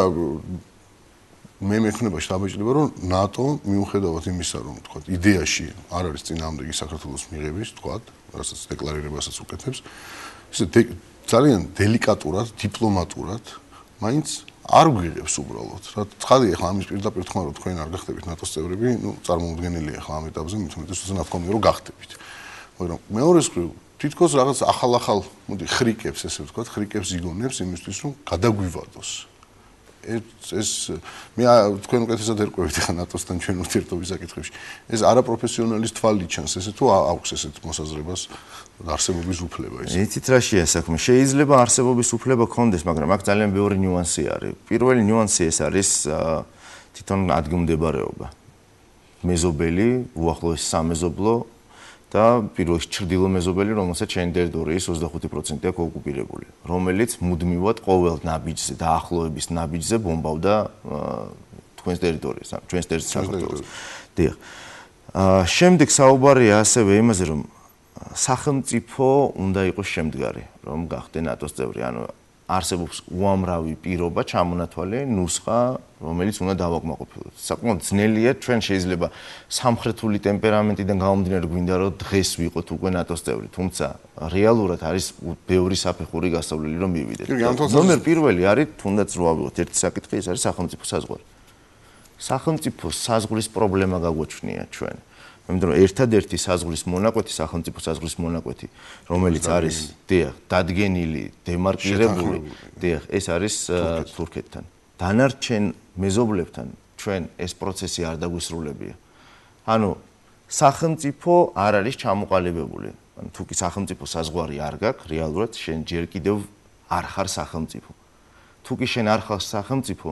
მე მექნება შთაბეჭდილება, რომ ნატო მიუხედავად იმისა, რომ თქვა იდეაში არ არის წინააღმდეგი საქართველოს მიღების, თქვა, რასაც დეკლარირებასაც უკეთებს, ისე ძალიან დელიკატურად, დიპლომატურად, მაინც არ გვიღებს უბრალოდ. რა ცხადია, ახლა ამის პირდაპირ თქვა, რომ თქვენ არ გახდებით ნატოს წევრები, ნუ წარმოუდგენელია ახლა ამ ეტაპზე, მით უმეტეს უცნაურად ნათქვამია, რომ გახდებით. მაგრამ მეორეს მხრივ თითქოს რაღაც ახალ-ახალ, მოდი, ხრიკებს, ესე ვთქვათ, ხრიკებს იგონებს იმისთვის, რომ გადაგვივადოს. ეს ეს მე თქვენ უკეთესად ერკვევით ახლა ნატოსთან ჩვენ ურთიერთობის საკითხებში. ეს არაპროფესიონალის თვალი ჩანს, ესე თუ აქვს ესეთ მოსაზრებას არსებობის უფლება ეს. იცით რა შეა საქმე? შეიძლება არსებობის უფლება გქონდეს, მაგრამ აქ ძალიან ბევრი ნიუანსი არის. პირველი ნიუანსი ეს არის თვითონ ადგილმდებარეობა. მეზობელი, უახლოესი სამეზობლო და პირველში ჩრდილო მეზობელი, რომელსაც შენი ტერიტორიის ოცდახუთი პროცენტი აქვს ოკუპირებული, რომელიც მუდმივად ყოველ ნაბიჯზე და ახლოების ნაბიჯზე ბომბავდა თქვენს ტერიტორიას, ჩვენს ტერიტორიას. დიახ. შემდეგ საუბარია ასევე იმაზე, რომ სახელმწიფო უნდა იყოს შემდგარი, რომ გახდე ნატოს წევრი, ანუ არსებობს უამრავი პირობა, ჩამონათვალე, ნუსხა, რომელიც უნდა დავაკმაყოფილოთ. საკმაოდ ძნელია, ჩვენ შეიძლება სამხრეთული ტემპერამენტიდან გამომდინარე გვინდა რომ დღეს ვიყოთ უკვე ნატოს წევრი, თუმცა რეალურად არის ბევრი საფეხური გასავლელი რომ მივიდეთ. ნომერ პირველი არის თუნდაც რო ავიღოთ ერთი საკითხი, ეს არის სახელმწიფო საზღვარი. სახელმწიფო საზღვრის პრობლემა გაგვაჩნია ჩვენ. იმიტომ რომ ერთადერთი საზღვრის მონაკვეთი, სახელმწიფო საზღვრის მონაკვეთი, რომელიც არის დიახ, დადგენილი, დემარკირებული, დიახ, ეს არის თურქეთთან. დანარჩენ მეზობლებთან ჩვენ ეს პროცესი არ დაგვისრულებია. ანუ სახელმწიფო არ არის ჩამოყალიბებული. ანუ თუ კი სახელმწიფო საზღვარი არ გაქვს, რეალურად შენ ჯერ კიდევ არ ხარ სახელმწიფო. თუ კი შენ არ ხარ სახელმწიფო,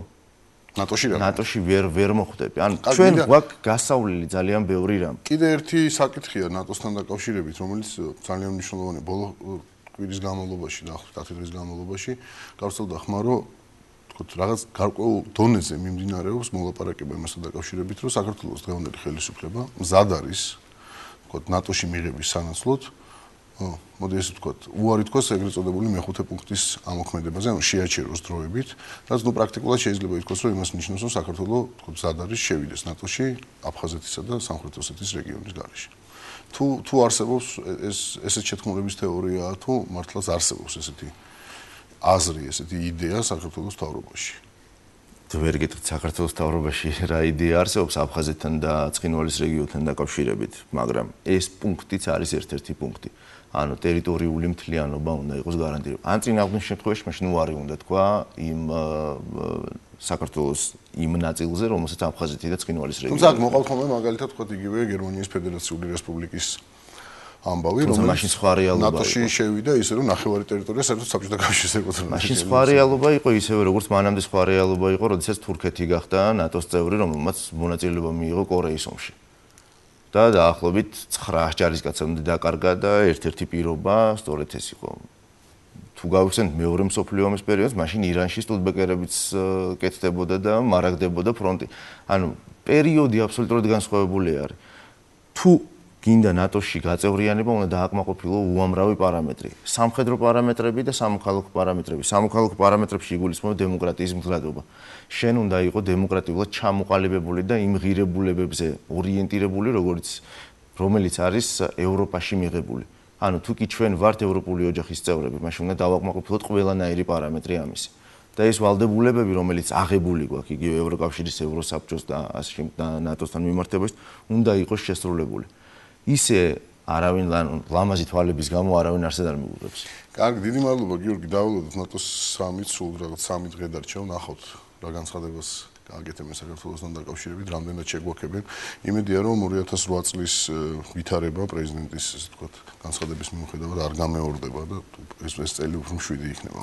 ნატოში რა? ნატოში ვერ ვერ მოხვდები. ანუ ჩვენ გვაქვს გასავლელი ძალიან ბევრი რამ. კიდე ერთი საკითხია ნატოსთან დაკავშირებით, რომელიც ძალიან მნიშვნელოვანია ბოლო კვირის განმავლობაში და ათი დღის განმავლობაში გავრცელდა ხმა, რომ თქო რაღაც გარკვეულ დონეზე მიმდინარეობს მოლაპარაკება იმასთან დაკავშირებით, რომ საქართველოს დღევანდელი ხელისუფლება მზად არის თქო ნატოში მიღების სანაცვლოდ მოდი ესე ვთქვათ, უარი თქვას ეგრეთ წოდებული მეხუთე პუნქტის ამოქმედებაზე, ანუ შეაჩეროს დროებით, რაც ნუ პრაქტიკულად შეიძლება ითქვას, რომ იმას ნიშნავს, რომ საქართველოს თქო მზად არის შევიდეს ნატოში, აფხაზეთისა და სამხრეთ ოსეთის რეგიონის გარეშე. თუ თუ არსებობს ეს ესეთ შეთქმულების თეორია, თუ მართლაც არსებობს ესეთი აზრი, ესეთი იდეა საქართველოს მთავრობაში. ვერ გეტყვით საქართველოს მთავრობაში რა იდეა არსებობს აფხაზეთთან და ცხინვალის რეგიონთან დაკავშირებით, მაგრამ ეს პუნქტიც არის ერთ-ერთი პუნქტი. ანუ ტერიტორიული მთლიანობა უნდა იყოს გარანტირებული. ან წინ აღნიშნულ შემთხვევაში მაშინ უარი უნდა თქვა იმ საქართველოს იმ ნაწილზე, რომელსაც აფხაზეთი და ცხინვალის რეგიონი. თუმცა მოყავთ ხოლმე მაგალითად თქვა იგივე გერმანიის ფედერაციული რესპუბლიკის ამბავი, რომელიც მაშინ სხვა რეალობა ნატოში შევიდა ისე რომ ნახევარი ტერიტორია საერთოდ საბჭოთა კავშირის ეკუთვნის. მაშინ სხვა რეალობა იყო ისევე როგორც მანამდე სხვა რეალობა იყო, როდესაც თურქეთი გახდა ნატოს წევრი, რომელმაც მონაწილეობა მიიღო კორეის ომში. და დაახლოებით ცხრა ჯარისკაცამდე დაკარგა და ერთ-ერთი პირობა სწორედ ეს იყო. თუ გავიხსენებთ მეორე მსოფლიო ომის პერიოდს, მაშინ ირანში სტუდბეკერებიც კეთდებოდა და მარაგდებოდა ფრონტი. ანუ პერიოდი აბსოლუტურად განსხვავებული არის. თუ გინდა ნატოში გაწევრიანება, უნდა დააკმაყოფილო უამრავი პარამეტრი. სამხედრო პარამეტრები და სამოქალაქო პარამეტრები. სამოქალაქო პარამეტრებში იგულისხმება დემოკრატიის მდგრადობა. შენ უნდა იყო დემოკრატიულად ჩამოყალიბებული და იმ ღირებულებებზე ორიენტირებული, როგორც რომელიც არის ევროპაში მიღებული. ანუ თუ კი ჩვენ ვართ ევროპული ოჯახის წევრები, მაშინ უნდა დავაკმაყოფილოთ ყველანაირი პარამეტრი ამისი. და ეს ვალდებულებები, რომელიც აღებული გვაქვს იგივე ევროკავშირის, ევროსაბჭოს და ასე და ნატოსთან მიმართებაში, უნდა იყოს შესრულებული. ისე არავინ ლამაზი თვალების გამო არავინ არსად არ მიუღებს. კარგი, დიდი მადლობა გიორგი, დავალოდოთ ნატოს სამით, სულ რაღაც სამი დღე დარჩა, ნახავთ რა განცხადებას გააკეთებენ საქართველოსთან დაკავშირებით, რამდენად შეგვაქებენ. იმედია, რომ ორი ათას ოთხ წლის ვითარება პრეზიდენტის, ასე ვთქვათ, განცხადების მიუხედავად არ გამეორდება და ეს ეს წელი უფრო მშვიდი იქნება.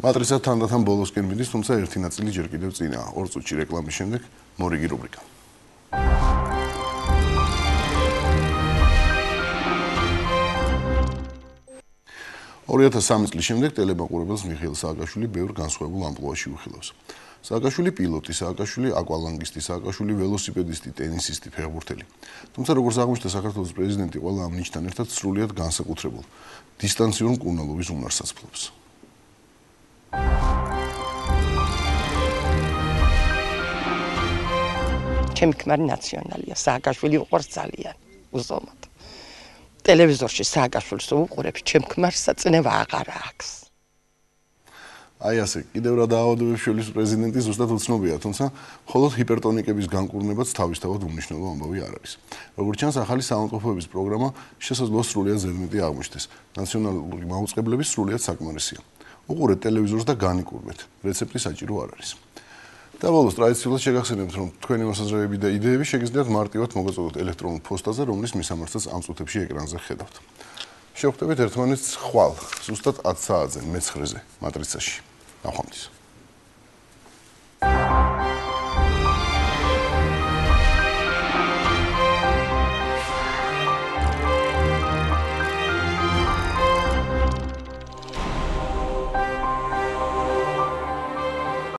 მატრიცა თანდათან ბოლოსკენ მიდის, თუმცა ერთი ნაწილი ჯერ კიდევ წინაა. ორ წუთში რეკლამის შემდეგ მორიგი რუბრიკა. ორი ათას სამი წლის შემდეგ ტელემაყურებელს მიხეილ სააკაშვილი ბევრ განსხვავებულ ამპლუაში უხილავს. სააკაშვილი პილოტი, სააკაშვილი აკვალანგისტი, სააკაშვილი ველოსიპედისტი, ტენისისტი, ფეხბურთელი. თუმცა როგორც აღმოჩნდა საქართველოს პრეზიდენტი ყველა ამ ნიშთან ერთად სრულიად განსაკუთრებულ დისტანციურ მკურნალობის უნარსაც ფლობს. ჩემი ქმარი ნაციონალია, სააკაშვილი უყვარს ძალიან, უზომოდ. ტელევიზორში სააკაშვილს უყურებ, ჩემ ქმარს წნევა აღარ აქვს. აი ასე, კიდევ რა დაავადებებს შორის პრეზიდენტი ზუსტად უცნობია, თუმცა მხოლოდ ჰიპერტონიკების განკურნებაც თავისთავად უმნიშვნელო ამბავი არ არის. როგორც ჩანს, ახალი საავადმყოფოების პროგრამა შესაძლოა სრულიად ზედმეტი აღმოჩნდეს. ნაციონალური მაუწყებლები სრულიად საკმარისია. უყურეთ ტელევიზორს და განიკურნეთ. რეცეპტი საჭირო არ არის. და ბოლოს ტრადიციულად შეგახსენებთ, რომ თქვენი მოსაზრებები და იდეები შეგიძლიათ მარტივად მოგაწოდოთ ელექტრონულ პოსტაზე, რომლის მისამართსაც ამ წუთებში ეკრანზე ხედავთ. შევხვდებით ერთმანეთს ხვალ, ზუსტად ათ საათზე, მეცხრეზე, მატრიცაში. ნახვამდის.